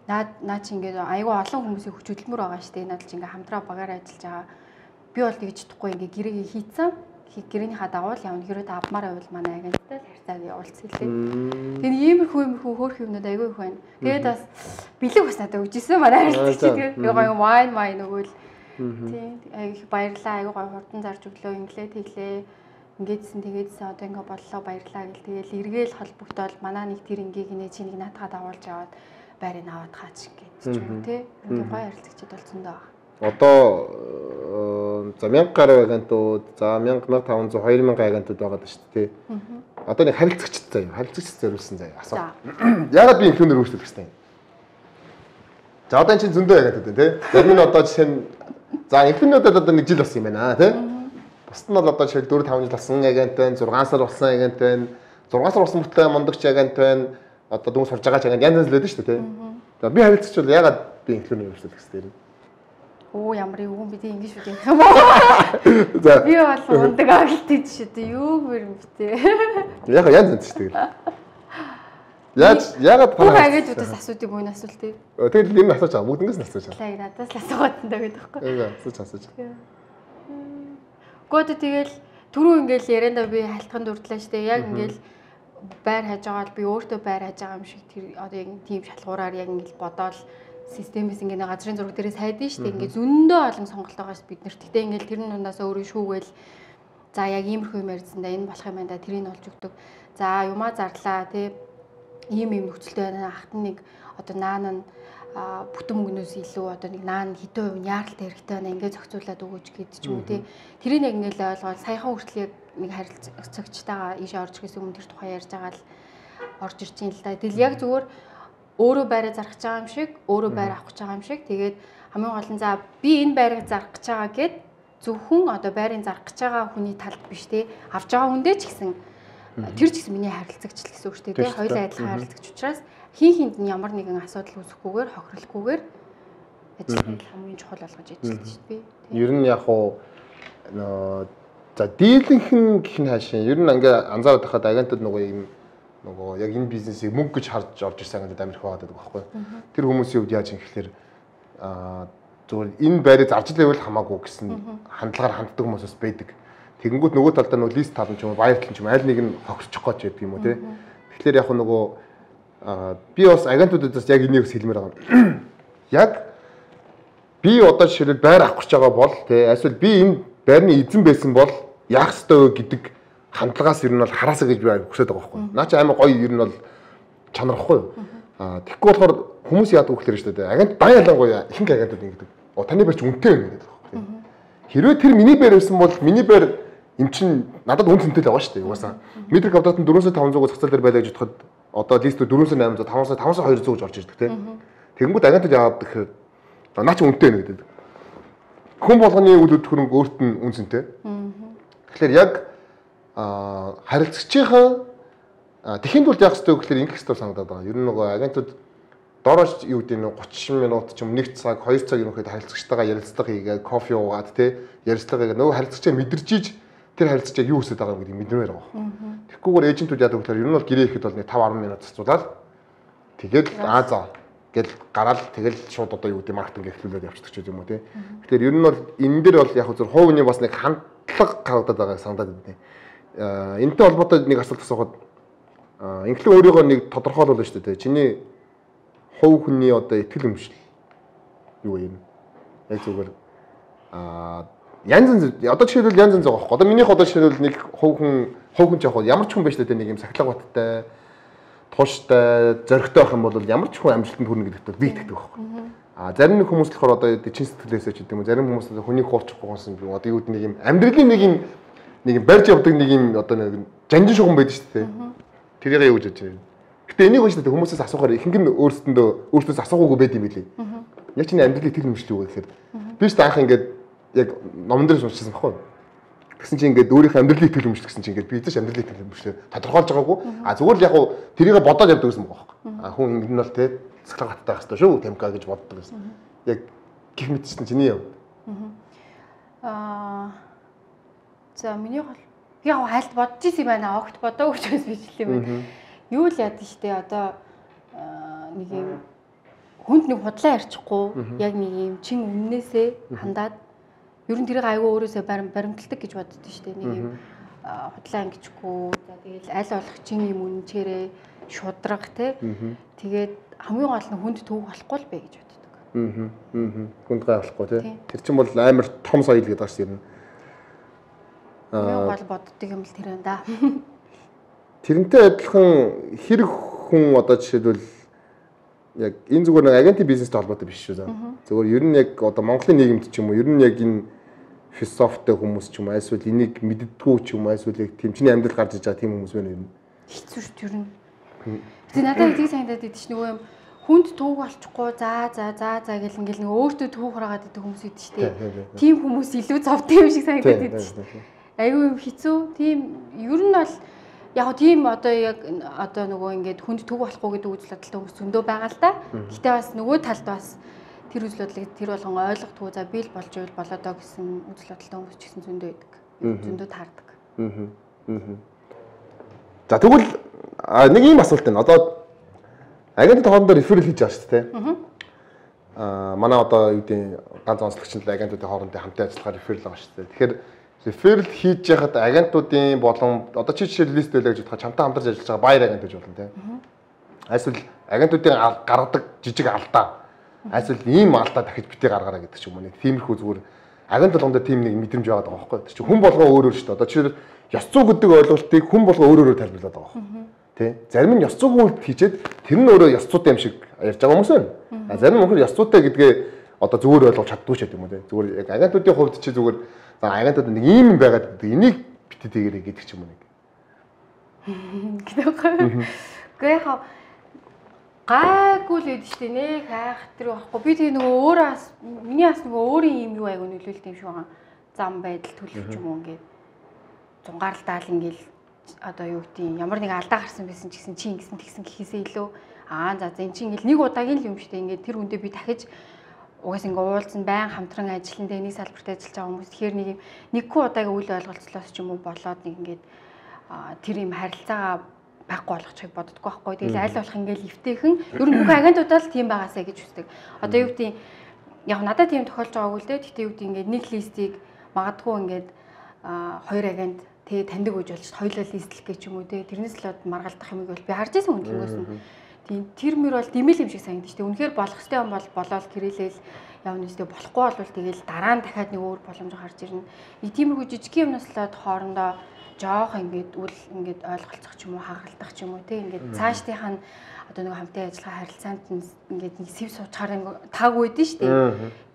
наа чи ингээд айгүй олон хүмүүсийн хүч хөдөлмөр байгаа шүү дээ. Надад чи ингээ хамтраа багаар ажиллаж байгаа. Би бол тэгж чадахгүй ингээ гэрээгээ хийцэн. Гэрээнийхаа дагуу явна. Хэрвээ та авмаар байвал манай агенттай л харьцааг явуулсан л дээ. Тэгээ иймэрхүү хөөх юмнууд айгүй их байна. Тэгээд бас бэлэг бас надад өгчээсэн манай харьцагч тэгээд гоё вайн өгөөл. Тийм айгүй их баярлаа. Айгүй гоё хурдан зарж өглөө инглээ тэглээ. Ингээдсэн тэгээдсэн одоо ингээ боллоо баярлаа гэл тэгээл эргээл холбогдоод манай нэг тэр ингийг нэ чи нэг наатагаа дагуулж аваад байрыг аваад хаач гэж юм тий. Ингээ гоё харилцагчд болсон доо. Одоо за 1000 гаруй агентууд, за 1500, 2000 агентууд байгаа даа шүү дээ. Одоо нэг харилцагчд заяа, харилцагчд зориулсан заяа асуу. Яагаад би инфлюенсер өөрчлөх гэсэн юм? За одоо энэ чинь зөндөө агентууд байна тий. Зарим нь одоо жишээ нь за инфлюенсеруудад одоо 1 жил болсон юм байна тий. Бусд нь бол одоо жишээ 4 5 жил болсон агент байна, 6 сар болсон агент байна, 6 сар болсон мөртлөө мондогч агент байна. Одоо дүнс сурж байгаа ч агент янз янз л байдаг шүү дээ тий. За би харилцагч бол яагаад би инфлюенсер өөрчлөх гэсэн юм? Оо ямар юм би тийм ингэж үү юм уу? За би бол ундаг агилтыг шүү дээ. Юу юм бэ? Яг янз янз шүү дээ. Яагаад бүх агентуудаас асуудыг мөн асуулт тий. Тэгэл юм асууж байгаа. Бүгднээс нь асууж байгаа. Лаг надаас л асуугаад энэ гэдэг байхгүй. Асууж. Гэхдээ тэгэл түрүү ингээл ярианда би халтхан дурдлаа шүү дээ. Яг ингээл байр хаж байгаа л би өөртөө байр хаж байгаа юм шиг тэр одоо яг тийм шалгуураар яг ингээл бодоол системээс ингээд газрын зураг дээрээс хайдсан шүү дээ. Ингээд зөндөө олон сонголт байгаа шүү бид нарт. Гэтэ ингээд тэр нь дундаас өөрөө шүүгээл за яг иймэрхүү юм ярьсан да энэ болох юм байна да тэрийг олж өгдөг. За юмаа зарлаа тий. Ийм нөхцөлтэй байна. Ахтан нэг одоо наан нь бүтэн мөнгнөөс илүү одоо нэг наан хэдэн хувь яаралтай хэрэгтэй байна. Ингээд зохицуулаад өгөөч гэдэг ч юм уу тий. Тэрийг яг ингээд ойлгоод саяхан хүртэл яг нэг харилцагчтайгаа ийшээ орж ирэхээс өмнө тэр тухай ярьж байгаа л орж ирж юм л да. Тэгэл яг зүгээр өөрөө байраа зарах гэж байгаа юм шиг, өөрөө байр авах гэж байгаа юм шиг. Тэгээд хамгийн гол нь за би энэ байрыг зарах гэж байгаа гэд зөвхөн одоо байрыг зарах гэж байгаа хүний талд биш те. Авж байгаа хүндээ ч гэсэн тэр ч гэсэн миний харилцагч л гэсэн үг шүү дээ те. Хоёулаа адилхан харилцагч учраас хин хинд нь ямар нэгэн асуудал үүсэхгүйгээр, хохирлохгүйгээр ажиллах нь хамгийн чухал болгож ажиллаж шүү дээ. Ер нь яг уу за дийлэнх нь гэх нь хаашаа. Ер нь ингээ анзаараад байхад агентууд нөгөө яг энэ бизнесийг мөнгө гэж харж орж ирсэн агентууд амирх байгаад байдаг байхгүй. Тэр хүмүүсийн хувьд яаж юм гэхэлэр зүгээр энэ байрыг зарж лээвэл хамаагүй гэсэн хандлагаар ханддаг хүмүүс бас байдаг. Тэгэнгүүт нөгөө талдаа нөгөө лист тал нь ч юм уу баяр тал нь ч юм аль нэг нь хогсчих гэж байдаг юм уу те. Тэгэхээр яг нөгөө би бас агентуудаас яг энийг хэлмээр байгаа. Яг би одоо жишээлбэл байр авах гэж байгаа бол те эсвэл би энэ байрны эзэн байсан бол яах ёстой вэ гэдэг хандлагаас ер нь бол хараасаа гэж би хүсэж байгаа байхгүй. Наа чи амар гоё ер нь бол чанарахгүй юу. Тэгэхгүй болохоор хүмүүс яадаг гэхээр шүү дээ. Агент дан ялангуяа ихэнх агентууд ингэдэг. Таны байр чи үнэтэй байна гэдэг байхгүй. Хэрвээ тэр миний байр байсан бол миний байр эм чин надад үн цэнтэй л байгаа шүү дээ. Угаасаа метр квадрат нь 400-500-г зах зээл дээр байлаа гэж бодоход одоо листүүд 400-800, 500-500-200 гэж орж ирдэг тийм. Тэгэнгүүт агентууд яагаад гэхээр наа чи үнэтэй байна гэдэг. Хүн болгоны үйл хөдлөх хөрөнгө өөрт нь үн цэнтэй. Тэгэхээр яг харилцагчийн тэхийн тулд яах ёстой гэхээр ингэх ёстой санагдаад байгаа. Ер нь нөгөө агентууд доорооч юу гэдэг нь 30 минут ч юм 1 цаг 2 цаг ерөнхийдөө харилцагчтайгаа ярилцлага хийгээд кофе уугаад те ярилцлага хийгээд нөгөө харилцагчаа мэдэрчиж тэр харилцагчаа юу хүсэж байгаа юм гэдгийг мэднээр байгаа. Тэгэхгүйгээр эйжентүүд яадаг гэхээр ер нь бол гэрээ ихэд бол нэг 5-10 минут зарцуулаад тэгээд за гэл гараал тэгэл шууд одоо юу гэдэг маркетинг эхлүүлээд явчихдаг ч юм уу те. Тэгэхээр ер нь бол энэ дээр бол яг зөв хувийн бас нэг хандлага гаргадаад байгаа санагдаад байна. Энэтэй холбоотой нэг асуулт асуухад инхлэн өөрийгөө нэг тодорхойлуулна шүү дээ. Чиний хувь хүний одоо итгэл өмшил юу юм? Яг зүгээр янз янз одоо жишээлбэл янз янз байгаа байхгүй. Одоо минийх одоо жишээлбэл нэг хувь хүн ч яг ямар ч хүн байж таа нэг юм сахилга баттай, тууштай, зоригтой байх юм бол ямар ч хүн амжилтанд хүрнэ гэдэгт би итгэдэг байхгүй. Зарим нэг хүмүүс болохоор одоо чин сэтгэлээсээ ч гэдэг юм. Зарим хүмүүс хүний хуурчихгүй гонсон би одоо юу гэдэг нэг юм амьдралын нэг юм барьж явдаг нэг юм одоо нэг жанжин шугам байдаг шүү дээ. Тэрийг юу гэж бодож байна. Гэтэ энийг гэж хүмүүсээс асуухаар ихэнх нь өөртөөс асуугаагүй байд юм билий. Яг чиний амьдралыг тэр юмшил юу гэхээр би ч анх ингээд яг номон дээрс уншижсэн байхгүй. Тэгсэн чинь ингээд өөрийнхөө амьдралыг итгэл өмшөлт гэсэн чинь ингээд би эзэж амьдралыг итгэл өмшлөө тодорхойлж байгаагүй. Зүгээр л яг уу тэрийг бодоод явдаг гэсэн байгаа байхгүй. Хүн ингэ нь бол те цэцлэг хаттай байх хэрэгтэй шүү темка гэж боддог гэсэн. Яг гих мэдсэн чиний яв. За миний бол яг хайлт бодож исэн юм байна. Огт бодоогүй ч бас биш юм байна. Юу л яд штэ одоо нэг юм хүнд нэг худлаа ярьчихгүй яг нэг юм чин өмнөөсөө хандаад ер нь тэрийг айгүй өөрөөсөө баримталдаг гэж боддоо штэ нэг юм худлаа ангичгүй за тэгэл аль болох чин юм үнчээрээ шудраг те тэгээд хамгийн гол нь хүнд төвөг болохгүй л бэ гэж боддог. Хүнд гай болохгүй те тэр чинь бол амар том соёл гэдэг ааш юм. Хамгийн гол боддог юм л тэр энэ да. Тэрнтэй адилхан хэрэг хүн одоо жишээлбэл яг энэ зүгээр нэг агентийн бизнестэй холбоотой биш шүү заа. Зүгээр ер нь яг одоо Монголын нийгэмд ч юм уу ер нь яг энэ философитой хүмүүс ч юм уу эсвэл энийг мэддэггүй ч юм уу эсвэл яг тэмчний амьдрал гарч иж байгаа тийм хүмүүс байна юм. Хэцүү шүү ер нь. Гэтэ надад эдийг санагдаад идэв ч нөгөө юм хүнд төвөг болчихгүй за гэл ингээл нэг өөртөө төвөг хураагаад идэг хүмүүс идэв ч тийм хүмүүс илүү зовдөг юм шиг санагдаад идэв ч. Айгүй юм хэцүү. Тийм ер нь бол яг тийм одоо яг одоо нөгөө ингээд хүнд төг болохгүй гэдэг үзэл бодолтой хүмүүс зөндөө байгаа л та. Гэтэ бас нөгөө талд бас тэр үзэл бодлыг тэр болгон ойлгохгүй за би л болж ивэл болоо доо гэсэн үзэл бодолтой хүмүүс ч гэсэн зөндөө байдаг. Зөндөө таардаг. За тэгвэл нэг ийм асуулт байна. Одоо агентд хоорондоо реферал хийж байгаа шүү дээ. Манай одоо юу гэдэг ганц онцлогч нь агентуудын хоорондын хамтын ажиллагаа реферал байгаа шүү дээ. Тэгэхээр реферал хийж яхад агентуудын болон одоо чи жишээл лист байлаа гэж бодоход чамтай хамтарч ажиллаж байгаа баяр агент гэж болно тийм. Эсвэл агентуудын гаргадаг жижиг алдаа. Эсвэл ийм алдаа дахиж битгий гаргаараа гэдэг ч юм уу нэг тиймэрхүү зүгээр агент болгонд тийм нэг мэдрэмж байгаа даа байхгүй. Тэр чинь хүн болгоо өөр өөр шүү дээ. Одоо жишээл ёс зүй гэдэг ойлголтыг хүн болгоо өөр өөрөөр тайлбарлаад байгаа байхгүй. Тэ? Зарим нь ёс зүйгүй үйлдэл хийчээд тэр нь өөрөө ёс зүйтэй юм шиг ярьж байгаа хүмүүс байна. Зарим нь өнөхөр ёс зүйтэй гэдгээ одоо зүгээр ойлгож чаддгүй ч гэдэг юм уу те. Зүгээр яг агентуудын хувьд чи зүгээр агентууд нэг ийм юм байгаад гэдэг. Энийг битээ тэгэрэй гэдэг ч юм уу нэг. Гэхдээ яг гайгүй л байдаг шүү дээ нэ хайхтар байхгүй. Би тэгээ нөгөө өөрөө миний бас нөгөө өөрийн юм юу айгу нөлөөлт юм шиг байгаа. Зам байдал төлөв ч юм уу ингээд зунгаарлалдаал ингээл одоо юу гэдэг ямар нэг алдаа гарсан байсан ч гэсэн чи ингэсэн тэгсэн гэхээсээ илүү за энэ чи ингээл нэг удаагийн л юм шүү дээ. Ингээд тэр хүндээ би дахиж угаас ингээ уулзсан байн хамтран ажиллан дээр нэг салбарт ажиллаж байгаа хүмүүс тэгэхээр нэг удаагийн үйл ойлголцлоос ч юм уу болоод нэг ингээд тэр юм харилцаагаа байхгүй болгочихыг боддоггүй байхгүй. Тэгэл аль болох ингээл эвтэйхэн ер нь бүх агентуудаа л тийм байгаасаа гэж үздэг. Одоо юу гэдэг яг надад тийм тохиолж байгаагүй л дээ. Тэгтээ юу гэдэг ингээд нэг листийг магадгүй ингээд хоёр агент тэгээ таньдаг үж болж хоёулаа листлэх гэж юм уу те тэрнээс л маргалдах юм бол би харж байсан үнэлгөөс нь. Тийм тэр мөр бол димэл юм шиг санагдаж штэ. Үнэхээр болох ёстой юм бол болоод гэрээлэл явна үстэй болохгүй бол тэгэл дараа нь дахиад нэг өөр боломж гарч ирнэ. Нэг тиймэрхүү жижиг юмнаас л хоорондоо жоох ингээд үл ингээд ойлголцох ч юм уу хагалдах ч юм уу те ингээд цаашдынх нь одоо нэг хамтын ажиллагаа харилцаанд ингээд нэг сэв суучаар тааг үйдэн штэ.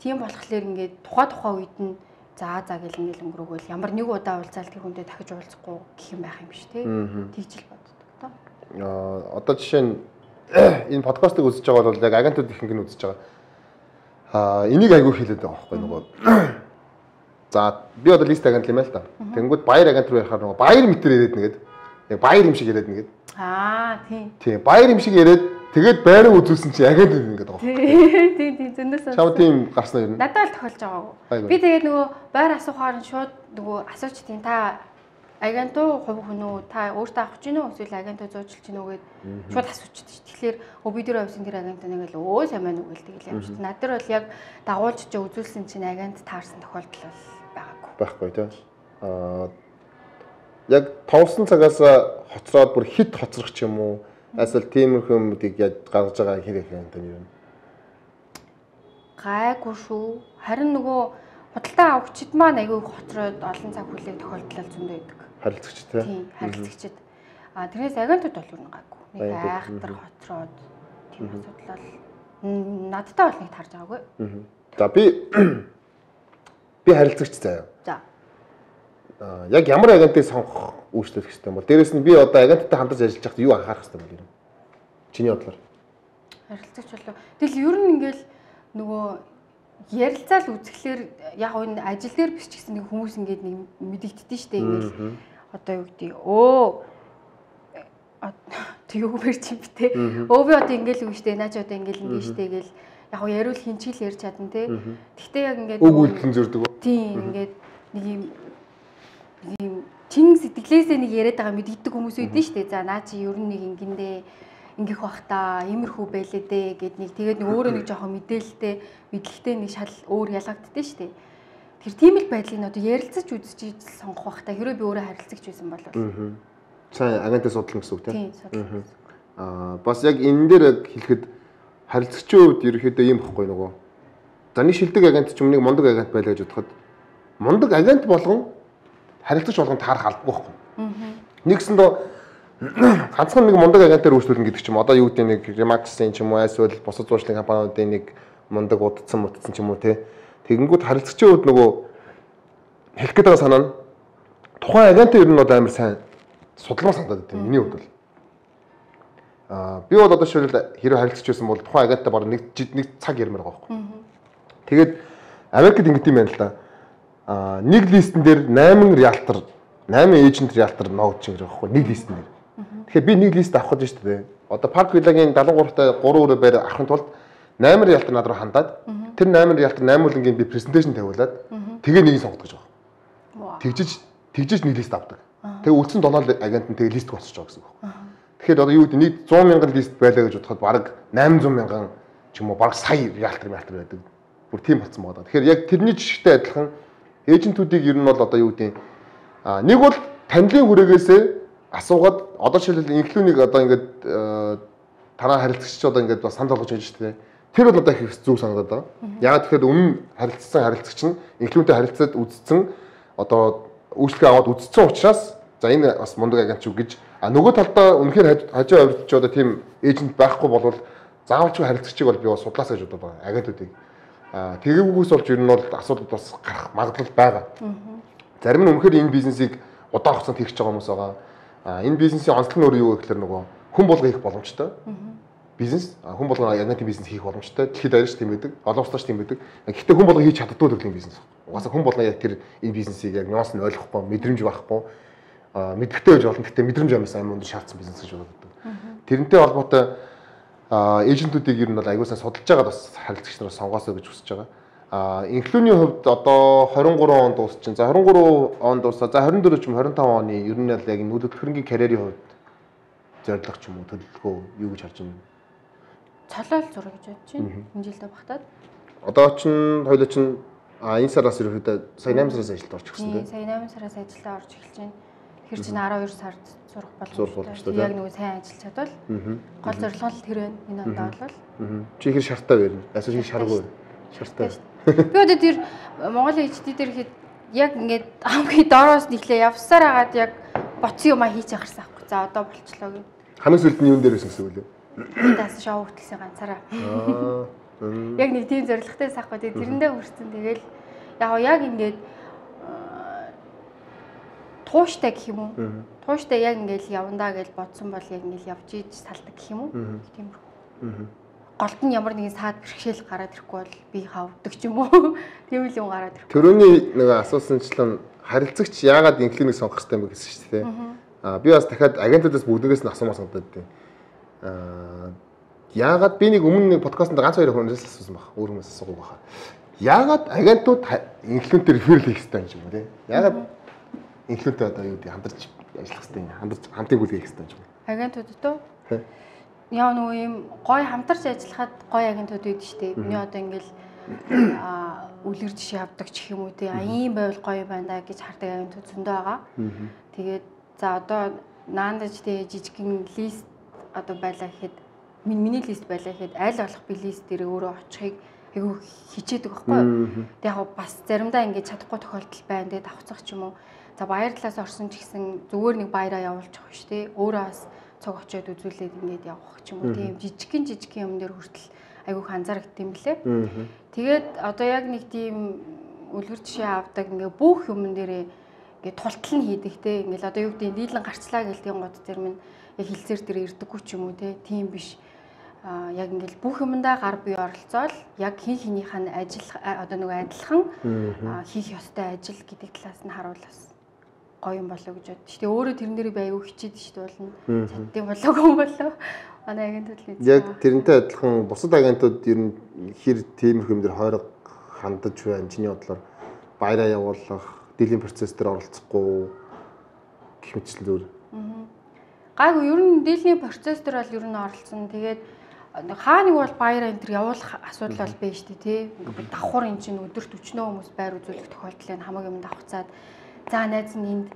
Тийм болохоор ингээд тухай үед нь за гэл ингээд өнгөрөөгөл ямар нэг удаа уулзаал тэр хүндээ дахиж уулзахгүй гэх юм байх юм биш те. Тэгж л боддог тоо. Одоо жишээ нь энэ подкастыг үзэж байгаа бол яг агентууд ихэнх нь үзэж байгаа. Энийг айгүй хэлээд байгаа байхгүй нөгөө. За би одоо лист агент юм байл та. Тэнгүүд баяр агент руу ярахаар нөгөө баяр мэтэр яриад нэгэд. Яг баяр юм шиг яриад нэгэд. Тийм. Тийм баяр юм шиг яриад тэгээд байраа үзүүлсэн чи агент ингээд байгаа. Тийм зөндөөс. Чам тийм гарснаа юм. Надад л тохиолж байгаагүй. Би тэгээд нөгөө байр асуухаар нь шууд нөгөө асууч тийм та агентуу хувь хүн үү та өөртөө авах гэж гинөө эсвэл агентуу зөөжилж гинөө гэд шууд асуучдаг ш. Тэгэхээр би дээр авсан тэр агент нэг л өө сайн байна уу гэл тэгэл юм ш. Над дээр бол яг дагуулж чи үзүүлсэн чинь агент таарсан тохиолдол байгаагүй. Байхгүй тий. Яг товсон цагаас хоцроод бүр хит хоцрох ч юм уу эсвэл тиймэрхүү юмдыг яаж гаргаж байгаа хэрэг юм тань юм. Гайгүй шүү. Харин нөгөө худалдаа авахчид маань аягүй хоцроод олон цаг хүлээх тохиолдол зөндөө байдаг. Харилцагч тий. Тийм, харилцагчид. Тэрнээс агентууд бол юу гайгүй. Нэг айхтар хоцроод тийм асуудал бол надтай бол нэг тарж байгаагүй. За би харилцагч заяа. За. Яг ямар агентыг сонгох үйлчлэх хэрэгтэй юм бол дээрэс нь би одоо агенттай хамтарч ажиллаж байхдаа юу анхаарах хэрэгтэй юм бэ? Чиний бодлоор. Харилцагч болов. Тэгэл ер нь ингээл нөгөө ярилцаал үзэхлээр яг энэ ажил дээр биш ч гэсэн нэг хүмүүс ингээд нэг мэдэгддэж штэ ингээл одоо юу гэдэг тэг юу мэр чим битээ. Би одоо ингээл үг штэ наач одоо ингээл штэ гэл яг нь яриул хинчил ярьж чадна те. Гэхдээ яг ингээд үг үйлдэл зөрдөг үү? Тийм ингээд нэг юм чин сэтгэлээсээ нэг яриад байгаа мэддэг хүмүүс үүдэн штэ. За наа чи ер нь нэг ингэндээ ингэх бах та иймэрхүү байлээ дээ гэд нэг тэгээд нэг өөрөө нэг жоохон мэдээлэлтэй мэдлэгтэй нэг шал өөр ялгагддээ штэ. Тэр тийм л байдлыг одоо ярилцаж үзэж сонгох бах та хэрвээ би өөрөө харилцагч байсан бол. Сайн агентаа судлах гэсэн үг тийм. Тийм. Бас яг энэ дээр хэлэхэд харилцагчийн хувьд ерөөхдөө юм бохгүй нөгөө. За нэг шилдэг агент ч юм нэг мундаг агент байлаа гэж бодоход мундаг агент болгон харилцагч болгон таарах албагүй байхгүй. Нэгсэндээ ганцхан нэг мундаг агентаар үйлчлүүлнэ гэдэг ч юм одоо юу гэдэг нэг Remax-ийн ч юм уу эсвэл бусад зуршлын компаниудын нэг мундаг удцсан ч юм уу те. Тэгэнгүүт харилцагчийн хувьд нөгөө хэлэх гээд байгаа санаа нь тухайн агентаа ер нь одоо амар сайн судалмаа санагдаад байна. Миний хувьд бол би бол одоо шил хэрэв харилцагч байсан бол тухайн агентаа баг нэг цаг ярмаар байгаа байхгүй. Тэгээд Америкт ингэдэм байна л да. Нэг листен дээр 8 риалтар 8 эйжент риалтар ноогч гэж байгаа байхгүй. Нэг листен дээр. Тэгэхээр би нэг лист авах гэж шүү дээ. Одоо Park Villa-гийн 73-тай 3 өрөө байр авахын тулд 8 риалтар над руу хандаад тэр 8 риалтар 8 үлэнгийн би презентацийн тавиулаад тэгээ нэгийг сонгох гэж байгаа. Тэгжиж нэг лист авдаг. Тэгээ үлдсэн донол агент нь тэгээ лист болчихж байгаа гэсэн үг. Тэгэхээр одоо юу гэдэг нэг 100 мянган лист байлаа гэж бодоход бараг 800 мянган ч юм уу бараг сая риалтар байдаг. Бүр тийм болсон байгаа. Тэгэхээр яг тэрний жишгтэй адилхан эйжентүүдийг ер нь бол одоо юу гэдэг нэг бол танилын хүрээгээсээ асуугаад одоо жишээлбэл инфлюнийг одоо ингээд танаа харилцагч одоо ингээд бас санал болгож байж тээ. Тэр бол одоо их зүг санагдаад байгаа. Яг тэгэхээр өмнө харилцсан харилцагч нь инфлюнтэй харилцаад үзсэн одоо үйлчлэгээ аваад үзсэн учраас за энэ бас мундаг агент ч гэж нөгөө талдаа үнэхээр хажуу авирч одоо тийм эйжент байхгүй болвол заавалчгүй харилцагчийг бол би бас судлаасаа гэж бодоод байгаа агентуудыг. Тэгээгүйгээс болж ер нь бол асуудал бас гарах магадлал байгаа. Зарим нь үнэхээр энэ бизнесийг удаан хугацаанд хийх гэж байгаа хүмүүс байгаа. Энэ бизнесийн онцлог нь өөрөө юу гэхээр нөгөө хүн болгоо хийх боломжтой. Бизнес хүн болгоо агентийн бизнес хийх боломжтой. Дэлхийд арайч тийм байдаг. Олон улсаач тийм байдаг. Гэхдээ хүн болгоо хийж чаддгүй төрлийн бизнес. Угаасаа хүн болгоо яг тэр энэ бизнесийг яг нюанс нь ойлгохгүй, мэдрэмж байхгүй, мэдрэхтэй байж болно. Гэхдээ мэдрэмж амнаас амар өндөр шаардсан бизнес гэж боддог. Тэрнтэй холбоотой эйжентүүдийг ер нь бол аягуусаа судалж байгаа бас харилцагч нараас сонгоосоо гэж хүсэж байгаа. Инфлюний хувьд одоо 23 онд дуусчин. За 23 онд дуусаа. За 24 ч юм 25 оны ер нь яг нүүдэлбэрийн карьерийн хувьд зорилго ч юм уу төлөвлөгөө юу гэж харж байна? Цолол зураг гэж бодож байна. Энэ жилдээ багтаад. Одоо ч хоёул ч энэ сараас ерөөхдөө сая 8 сараас ажилд орж ирсэн тийм. Сая 8 сараас ажилдаа орж эхэлж байна. Тэр чинь 12 сард сурах боломжтой. Яг нөгөө сайн ажиллаж чадвал гол зорилго нь тэр байна. Энэ ондоо бол. Чи ихэр шартаа байна. Эсвэл чи шаргуу. Шартай. Би одоо тэр Монголын HD дээр ихэд яг ингээд хамгийн доороос нэглээ явсаар агаад яг боцсон юмаа хийж ахарсан аахгүй. За одоо болчлоо гэх. Хамгийн сүүлд нь юун дээр байсан гэсэн үг лээ. Би даас шоу хөтлсөн ганцаараа. Яг нэг тийм зоригтой сахгүй. Тэрэндээ хүрсэн. Тэгэл яг ингээд тууштай гэх юм уу? Тууштай яг ингээд явандаа гэж бодсон бол яг ингээд явж иж салдаг гэх юм уу? Тиймэрхүү. Голд нь ямар нэгэн саад бэрхшээл гараад ирэхгүй бол би хавдаг ч юм уу. Тийм л юм гараад ирэхгүй. Төрөний нэг асуусанчлан харилцагч яагаад инфлюнийг сонгох хэрэгтэй юм бэ гэсэн шүү дээ. Би бас дахиад агентуудаас бүгдээс нь асуумаар санагдаад байна. Яагаад би нэг өмнө нэг подкастт ганц хоёр хүнээс асуусан баг. Өөр хүмүүс асуугүй баха. Яагаад агентууд инфлюентээр реферал хийх хэрэгтэй юм бэ? Яагаад инфлюентэй одоо юу гэдэг хамтарч ажиллах хэрэгтэй, хамтыг үлгээх хэрэгтэй юм. Агентуудад уу? Яа нөгөө юм гой хамтарч ажиллахад гой агентууд байдаг шүү дээ. Миний одоо ингээл үлгэр жишээ авдаг ч юм уу тий. Ийм байвал гоё байна да гэж хардаг агентууд зөндөө байгаа. Тэгээд за одоо наандаж тий жижигхэн лист одоо байлаа гэхэд миний лист байлаа гэхэд аль болох би лист дээр өөрөө очихыг айгүй хичээдэг байхгүй юу. Тэг яг бас заримдаа ингэж чадахгүй тохиолдол байна. Тэгээд давхцах ч юм уу. За баяр талаас орсон ч гэсэн зүгээр нэг баяраа явуулчих шүү дээ. Өөрөө бас цог очиод үзүүлээд ингээд явах ч юм уу тийм жижигхэн юм дээр хүртэл айгүйх анзаардаг юм лээ. Тэгээд одоо яг нэг тийм үлгэр жишээ авдаг ингээд бүх юм дээрээ ингээд тултал нь хийдэг те. Ингээд одоо юу гэдэг нь дийлэн гарчлаа гэлтийн гот тэр минь яг хилцээр дээр ирдэггүй ч юм уу те. Тийм биш. Яг ингээд бүх юмдаа гар бие оролцоол яг хин хинийх нь ажил одоо нөгөө адилхан хийх ёстой ажил гэдэг талаас нь харуулсан. гоё юм болоо гэж бодчих. Тэгээ өөрөө тэрнэрээ би аягүй хичээд шүү дээ болно. Чаддсан болоогүй юм болоо. Манай агентууд л яг тэрнтэй адилхан бусад агентууд ер нь хэр тиймэрхүү юм дээр хойрог хандаж байна. Чиний бодлоор баяраа явуулах, дийлэн процесс дээр оролцохгүй гэх мэтчлэн зүгээр. Гайгүй ер нь дийлний процесс дээр бол ер нь оролцсон. Тэгээд хаа нэг бол баяраа энэ төр явуулах асуудал бол байна шүү дээ тий. Ингээд давхар эн чинь өдөрт 40 хүмүүс байр үзүүлэх тохиолдол нь хамаг юм давхцаад за найз нь энд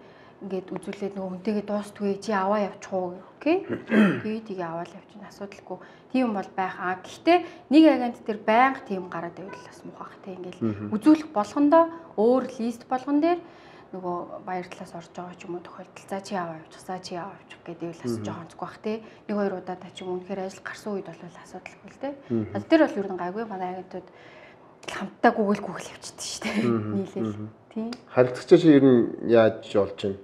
ингээд үзүүлээд нөгөө хүнтэйгээ дуустгүй чи аваа явчих уу окей. Тэгээд тийг аваад явчихна асуудалгүй. Тийм бол байх. Гэхдээ нэг агент дээр байнга тийм гараад байвал бас муухай тий. Ингээд үзүүлэх болгондоо өөр лист болгон дээр нөгөө баяр талаас орж байгаа ч юм уу тохиолдол за чи аваа явчих гэдэг л бас жоохон зүг бах тий. Нэг хоёр удаа та ч юм үнэхээр ажил гарсан үед бол асуудалгүй л тий. Тэр бол ер нь гайгүй манай агентууд хамтдаа гүгэл явчихдаг шүү дээ. Нийлээл тий. Харилцагчаа чи ер нь яаж болж байна?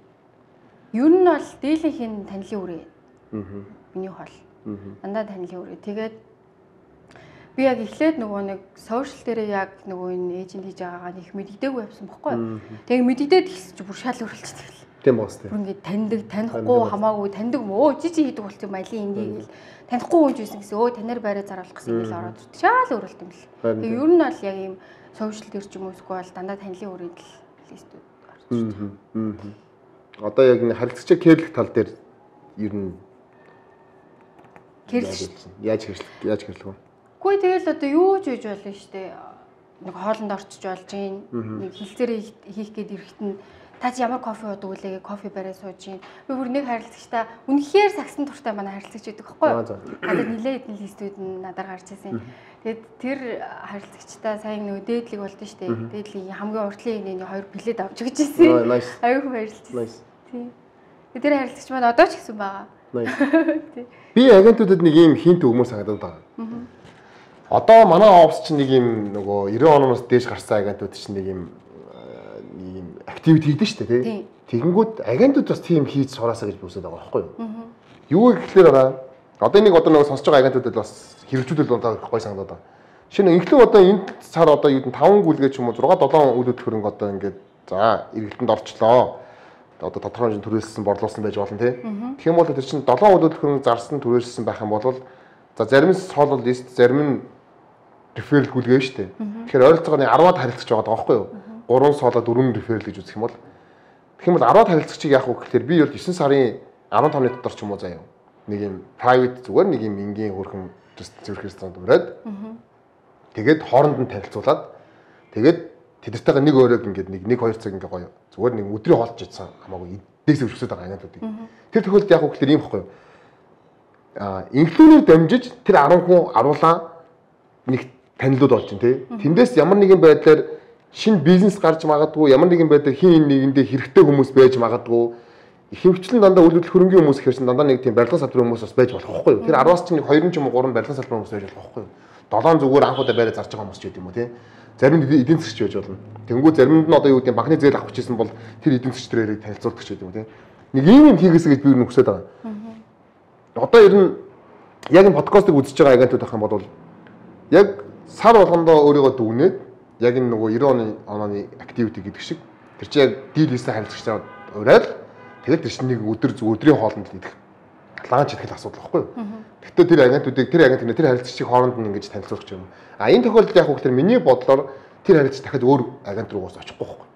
Ер нь бол дийлэнхийн танилын үрээ. Миний хол. Дандаа танилын үрээ. Тэгээд би яг эхлээд нөгөө нэг сошиал дээр яг нөгөө энэ эйжент хийж байгаагаа их мэддэггүй явсан бохгүй. Тэгээ мэддээд ихсэж бүр шал өрөлдчихтэй. Тийм баас тийм. Бүр ингээд таньдаг, танихгүй хамаагүй таньдаг өө жижиг хийдэг болчих юм айлын ингээл танихгүй хүн жийсэн гэсэн өө танаар байраа заруулах гэсэн ингээл ороод ирдэг. Шал өрөлд юм л. Тэгээ ер нь бол яг ийм сошиал дээр ч юм уу эсвэл бол дандаа танилын үрээд л листүүд гарч ирдэг. Одоо яг энэ харилцагчаа кэрлэх тал дээр ер нь яаж хэрэглэх вэ? Үгүй тэгэл одоо юу ч хийж болно шүү дээ. Нэг хоолнд орчиж болж гин. Нэг хилцээрээ хийх гээд ирэхэд нь та чи ямар кофе уудаг үлээ кофе барай сууж гин. Би бүр нэг харилцагчтай үнэхээр сагсан туртай манай харилцагч байдаг байхгүй юу? Одоо нилээ хэдэн листүүд нь надаар гарч ирсэн. Тэгэд тэр харилцагчтай сайн нөгөө дээдлэг болдсон шүү дээ. Дээдлийн хамгийн уртлын нэг хоёр билет авч өгч ирсэн. Аюух баярлалаа. Тий. Тэр харилцагч маань одоо ч гэсэн байгаа. Би агентуудад нэг ийм хинт өгмөр санагдаад байгаа. Одоо манай офс чинь нэг юм нөгөө 90 оноос дээш гарсан агентууд чинь нэг юм активити хийдэж штэ тий. Тэгэнгүүт агентууд бас тийм хийж сураасаа гэж бүсэд байгаа байхгүй юу? Юу гэхлээр байгаа. Одоо нэг одоо нөгөө сонсож байгаа агентуудад бас хэрэгжүүлэл болоо гой санагдаад байгаа. Шинэ инхлэг одоо энэ сар одоо юу н 5 гүйлгээ ч юм уу 6 7 үйл хөдлөлт одоо ингээд за эргэлтэнд орчлоо. Одоо тодорхой хэмжээнд түрээссэн борлуулсан байж болно тий. Тэгэх юм бол тэр чинь 7 үйл хөдлөлт зарсан түрээссэн байх юм бол за зарим нь солол лист зарим нь реферал гүйлгээ шүү дээ. Тэгэхээр ойролцоогоо 10-аад харилцагч байгаа байхгүй юу? 3 солоо 4 реферал гэж үзэх юм бол тэгэх юм бол 10-аад харилцагчийг яах вэ гэхээр би бол 9 сарын 15-ны дотор ч юм уу заяа. Нэг юм private зүгээр нэг юм энгийн хөрхөн зөвхөн ресторанд ураад тэгээд хооронд нь танилцуулаад тэгээд тэдэртэйгээ нэг өрөөг ингээд нэг 2 цаг ингээ гоё зүгээр нэг өдрийн хоолж ицсэн хамаагүй дээс өвчсөд байгаа агентуудыг. Тэр тохиолдолд яах вэ гэхээр ийм байхгүй юу? Инфлюенсер дамжиж тэр 10 хүн аруулаа нэг танилуд болж байна тий. Тэндээс ямар нэгэн байдлаар шинэ бизнес гарч магадгүй, ямар нэгэн байдлаар хин нэгэндээ хэрэгтэй хүмүүс байж магадгүй. Ихэвчлэн дандаа үйл хөдлөх хөрөнгөний хүмүүс ихэрсэн дандаа нэг тийм барилгын салбарын хүмүүс бас байж болох байхгүй юу? Тэр 10-аас ч нэг 2 ч юм уу 3 барилгын салбарын хүмүүс байж болох байхгүй юу? 7 зүгээр анхудаа байраа зарж байгаа хүмүүс ч гэдэг юм уу тий. Зарим нь эдийн засгч байж болно. Тэнгүү заримд нь одоо юу гэдэг банкны зээл авах гэжсэн бол тэр эдийн засгчдэрийг танилцуулдаг ч гэдэг юм тий. Нэг ийм хийгээсэй гэж би юу хүсэж байгаа. Одоо ер нь яг энэ подкастыг үзэж байгаа агентууд байх юм бол яг сар болгондоо өөрийгөө дүгнээд яг энэ нөгөө 90 оны активити гэдэг шиг тэр чинь яг дийл хийсэн харилцагчдаа ураад тэгээд тэр чинь нэг өдрийн хоолнд л идэх ланч идэх асуудал байхгүй юу. Гэхдээ тэр агентуудыг тэр харилцагчийг хооронд нь ингэж танилцуулах юм. Энэ тохиолдолд яг хөөхлөр миний бодлоор тэр харилцагч дахиад өөр агент руу очихгүй байхгүй.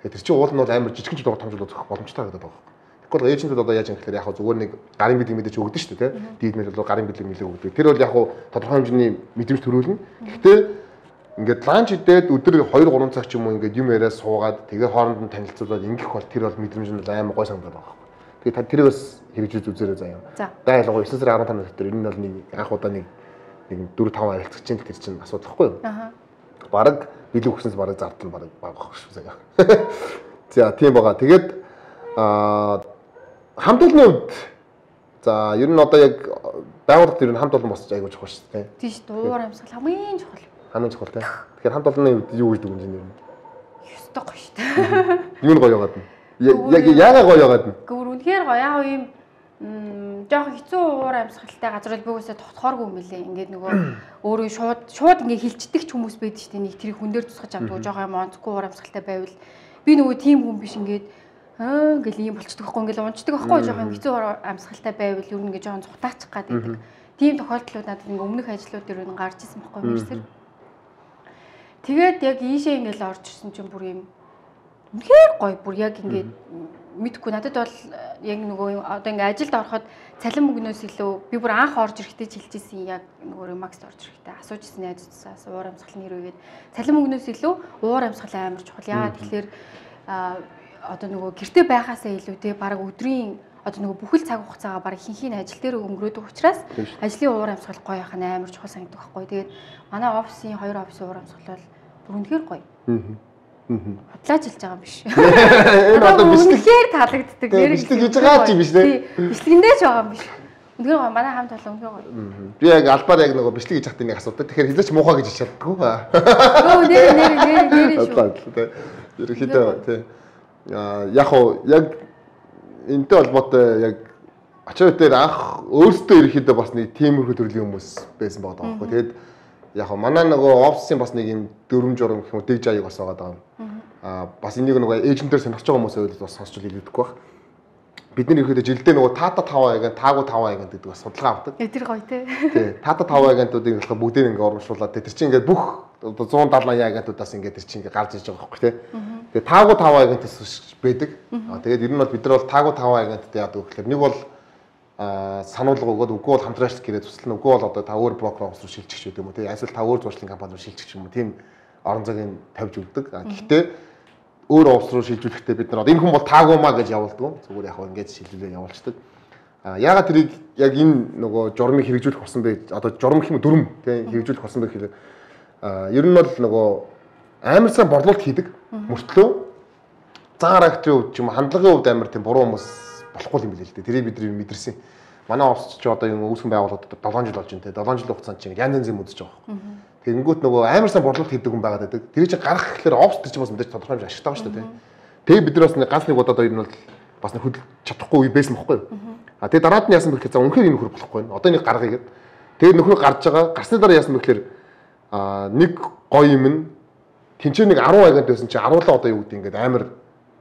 Тэгээд тэр чинь уул нь бол амар жижигэн жил тогтоомжлол өгөх боломжтой байдаг байгаа. Тэгвэл эйжентүүд одоо яаж юм гэхээр яг зүгээр нэг гарын бэлэг мэдээж өгдөг шүү дээ тий. Дийлмэл бол гарын бэлэг өгдөг. Тэр бол яг тодорхой хэмжээний мэдрэмж төрүүлнэ. Гэхдээ ингээд ланч идээд өдөр 2-3 цаг ч юм уу ингээд юм яриа суугаад тэгээ хооронд нь танилцуулаад ингэх бол тэр бол мэдрэмж нь амар гой санагдаад байгаа. Тэгээд тэрийг бас хэрэгжүүлж үзээрэй заяа. Дайлгоо 9 сарын 15-ны дотор энэ бол нэг анх удаа нэг 4-5 харилцагчийн тэр чинь асуудал байхгүй юу? Бараг бэлэг өгснөөс бараг зардал бараг багах шүү заяа. За тийм байгаа. Тэгээд хамт олонны үед за ер нь одоо яг байгууллагт ер нь хамт олон босч айгуу чухал шүү дээ. Тийм шүү. Дуур амьсгал хамгийн чухал. Хамгийн чухал тий. Тэгэхээр хамт олонны үед юу гэж дүгнэж байна юм? Ёстой гоё шүү дээ. Юу нь гоё яагаад нь? Яг яагаад гоё яагаад нь? Гүр үнэхээр гоё яг юм жоохон хэцүү уур амьсгалтай газар би үгүйсээ тогтохооргүй юм билээ. Ингээд нөгөө өөрөө шууд ингээд хилчдэг ч хүмүүс байдаг шүү дээ. Нэг тэрийг хүн дээр тусгаж авдаг жоохон юм онцгүй уур амьсгалтай байвал би нөгөө тийм хүн биш ингээд Ингээл ийм болчихдог байхгүй ингээл унцдаг байхгүй жоохон юм хэцүү амьсгалтай байвал ер нь ингээ жоохон цухтаачих гад байдаг. Тийм тохиолдлууд надад ингээ өмнөх ажлууд дээр нь гарч ирсэн байхгүй мэрсэр. Тэгээд яг ийшээ ингээл орж ирсэн чинь бүр юм үнэхээр гоё бүр яг ингээд мэдхгүй надад бол яг нөгөө одоо ингээ ажилд ороход цалин мөнгнөөс илүү би бүр анх орж ирэхдээ хэлжсэн яг нөгөө Макс орж ирэхдээ асуужсэн найзуудсаас уур амьсгал нэр үгээд цалин мөнгнөөс илүү уур амьсгал амар чухал. Яагаад тэгэхээр одоо нөгөө гэрте байхаасаа илүү те баг өдрийн одоо нөгөө бүхэл цаг хугацаагаа баг хинхийн ажил дээр өнгөрөөдөг учраас ажлын уур амьсгал гоё яхаа амар чухал санагддаг байхгүй. Тэгээд манай офисын 2 офисын уур амьсгал бол бүр үнэхээр гоё. Бодлооч хэлж байгаа юм биш. Энэ одоо бичлэгээр таалагддаг. Бичлэг хийж байгаа ч юм биш те. Бичлэгэндээ ч байгаа юм биш. Үнэхээр гоё манай хамт болоо үнэхээр гоё. Би яг албаар яг нөгөө бичлэг хийж хахад нэг асуудаг. Тэгэхээр хэлээч муухай гэж хэлж чаддаггүй. Өө нэр шүү. Ерөнхийдөө тий. Яг уу яг энэтэй холбоотой яг ачаа дээр анх өөрсдөө ерөнхийдөө бас нэг тиймэрхүү төрлийн хүмүүс байсан байгаа байхгүй. Тэгээд яг манай нөгөө офисын бас нэг юм дөрөм журам гэх юм уу дэг жааг бас байгаа даа. Бас энийг нөгөө эйжентээр сонирхож байгаа хүмүүсээ бас сонсч хэлээдэггүй баг. Бид нар ерөөдөө жилдээ нөгөө тата 5 агент, таагүй 5 агент гэдэг бас судалгаа авдаг. Тэр гоё тий. Тий, тата 5 агентуудыг болохоор бүгдийг ингээ урамшуулад тэр чинь ингээ бүх 170 агентуудаас ингээ тэр чинь ингээ гарч иж байгаа байхгүй тий. Тэгээ таагүй 5 агентаас байдаг. Тэгээд ер нь бол бид нар бол таагүй 5 агенттай яадаг гэхээр нэг бол сануулга өгөөд үгүй бол хамтраач гэрээ туслана үгүй бол одоо та өөр брокер офс руу шилжчих гэдэг юм уу тий. Эсвэл та өөр зуршлын компани руу шилжчих юм уу тийм орон зайг тавьж өгдөг. Гэхдээ өөр офс руу шилжүүлэхдээ бид нар энэ хүн бол таагүй маа гэж явуулдаг. Зүгээр яг ингэж шилжүүлээ явуулцдаг. Яагаад тэрийг яг энэ нөгөө журмыг хэрэгжүүлэх болсон бэ? Одоо журм гэх юм дүрм тий хэрэгжүүлэх болсон бэ гэхээр ер нь бол нөгөө амар сайн борлуулалт хийдэг. Мөртлөө зан характерын хувьд ч юм хандлагын хувьд амар тийм буруу хүмүүс болохгүй юм билээ л дээ. Тэрийг бид мэдэрсэн. Манай офс ч одоо юм үүсгэн байгууллагад 7 жил болж байна те. 7 жилийн хугацаанд чинь янз янзын үзэж байгаа байхгүй. Тэгэнгүүт нөгөө амар сайн борлуулалт хийдэг хүн байгаад байдаг. Тэр чинь гарах гэхээр офс төр чинь бас мэдээж тодорхой хэмжээ ашигтай байгаа шүү дээ. Тэгээ бид нар бас ганц нэг удаад хоёр нь бол бас нэг хөдөлж чадахгүй үе байсан байхгүй юу? Тэгээ дараад нь яасан бэ гэхээр за үнэхээр энэ нөхөр болохгүй байна. Одоо нэг гаргая гэд. Тэгээ нөхөр гарч байгаа. Гарсны дараа яасан бэ гэхээр нэг гоё юм нь тэнцээ нэг 10 агент байсан чинь 10 одоо юу гэдэг ингээд амар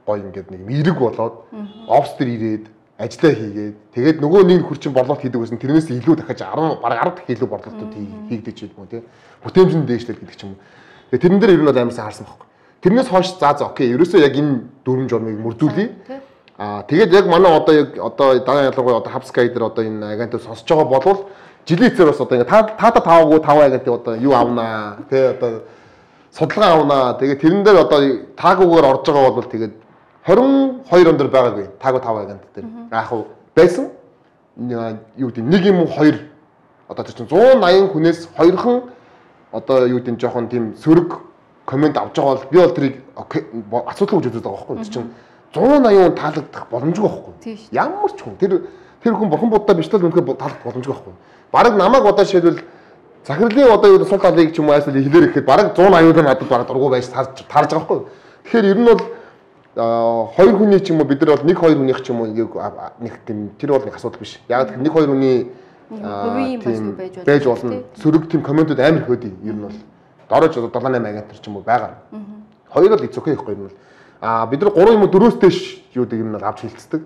гоё ингээд нэг эерэг болоод офс төр ирээд ажиллаа хийгээд тэгээд нөгөө нэг хурчин борлуулалт хийдэг байсан тэрнээс илүү дахиж 10 бараг 10 дахин илүү борлуулалтууд хийгдэж юм уу тий бүтээмжийн дээшлэл гэдэг ч юм. Тэгээд тэрэн дээр ер нь бол амар сайн харсан байхгүй. Тэрнээс хойш за окей ерөөсөө яг энэ дөрвөн журмыг мөрдүүлье. Тэгээд яг манай одоо дараа ялангуяа одоо Hubsky дээр одоо энэ агентыг сонсож байгаа болвол жилийн эцээр бас одоо ингээд таада 5 агентыг одоо юу авнаа тий одоо судалгаа авнаа. Тэгээд тэрэн дээр одоо таагуугаар орж байгаа бол тэгээд 22 он дээр байгаагүй таагүй 5 агент дээр. Яг уу байсан. Юу гэдэг нэг юм уу хоёр одоо тэр чинь 180 хүнээс хоёрхан одоо юу гэдэг жоохон тийм сөрөг комент авч байгаа бол би бол тэрийг асуудал гэж үздэг байгаа байхгүй. Тэр чинь 180 таалагдах боломжгүй байхгүй. Ямар ч хүн тэр хүн бурхан буддаа бичлэл үнэхээр таалагдах боломжгүй байхгүй. Бараг намайг одоо жишээлбэл захирлын одоо юу сул талыг ч юм уу эсвэл хэлээр ихэд бараг 180-аар надад бараг дургу байж таарж байгаа байхгүй. Тэгэхээр ер нь бол хоёр хүний ч юм уу бид нар бол нэг хоёр хүнийх ч юм уу нэг тийм тэр бол нэг асуудал биш. Яг нэг хоёр хүний байж болно. Сөрөг тийм комментууд амар их өдий. Ер нь бол дорож 7-8 агент ч юм уу байгаа. Хоёр бол эцөөхэй ихгүй юм бол. Бид нар 3 юм уу 4-өөс дэш юу гэдэг юм авч хилцдэг.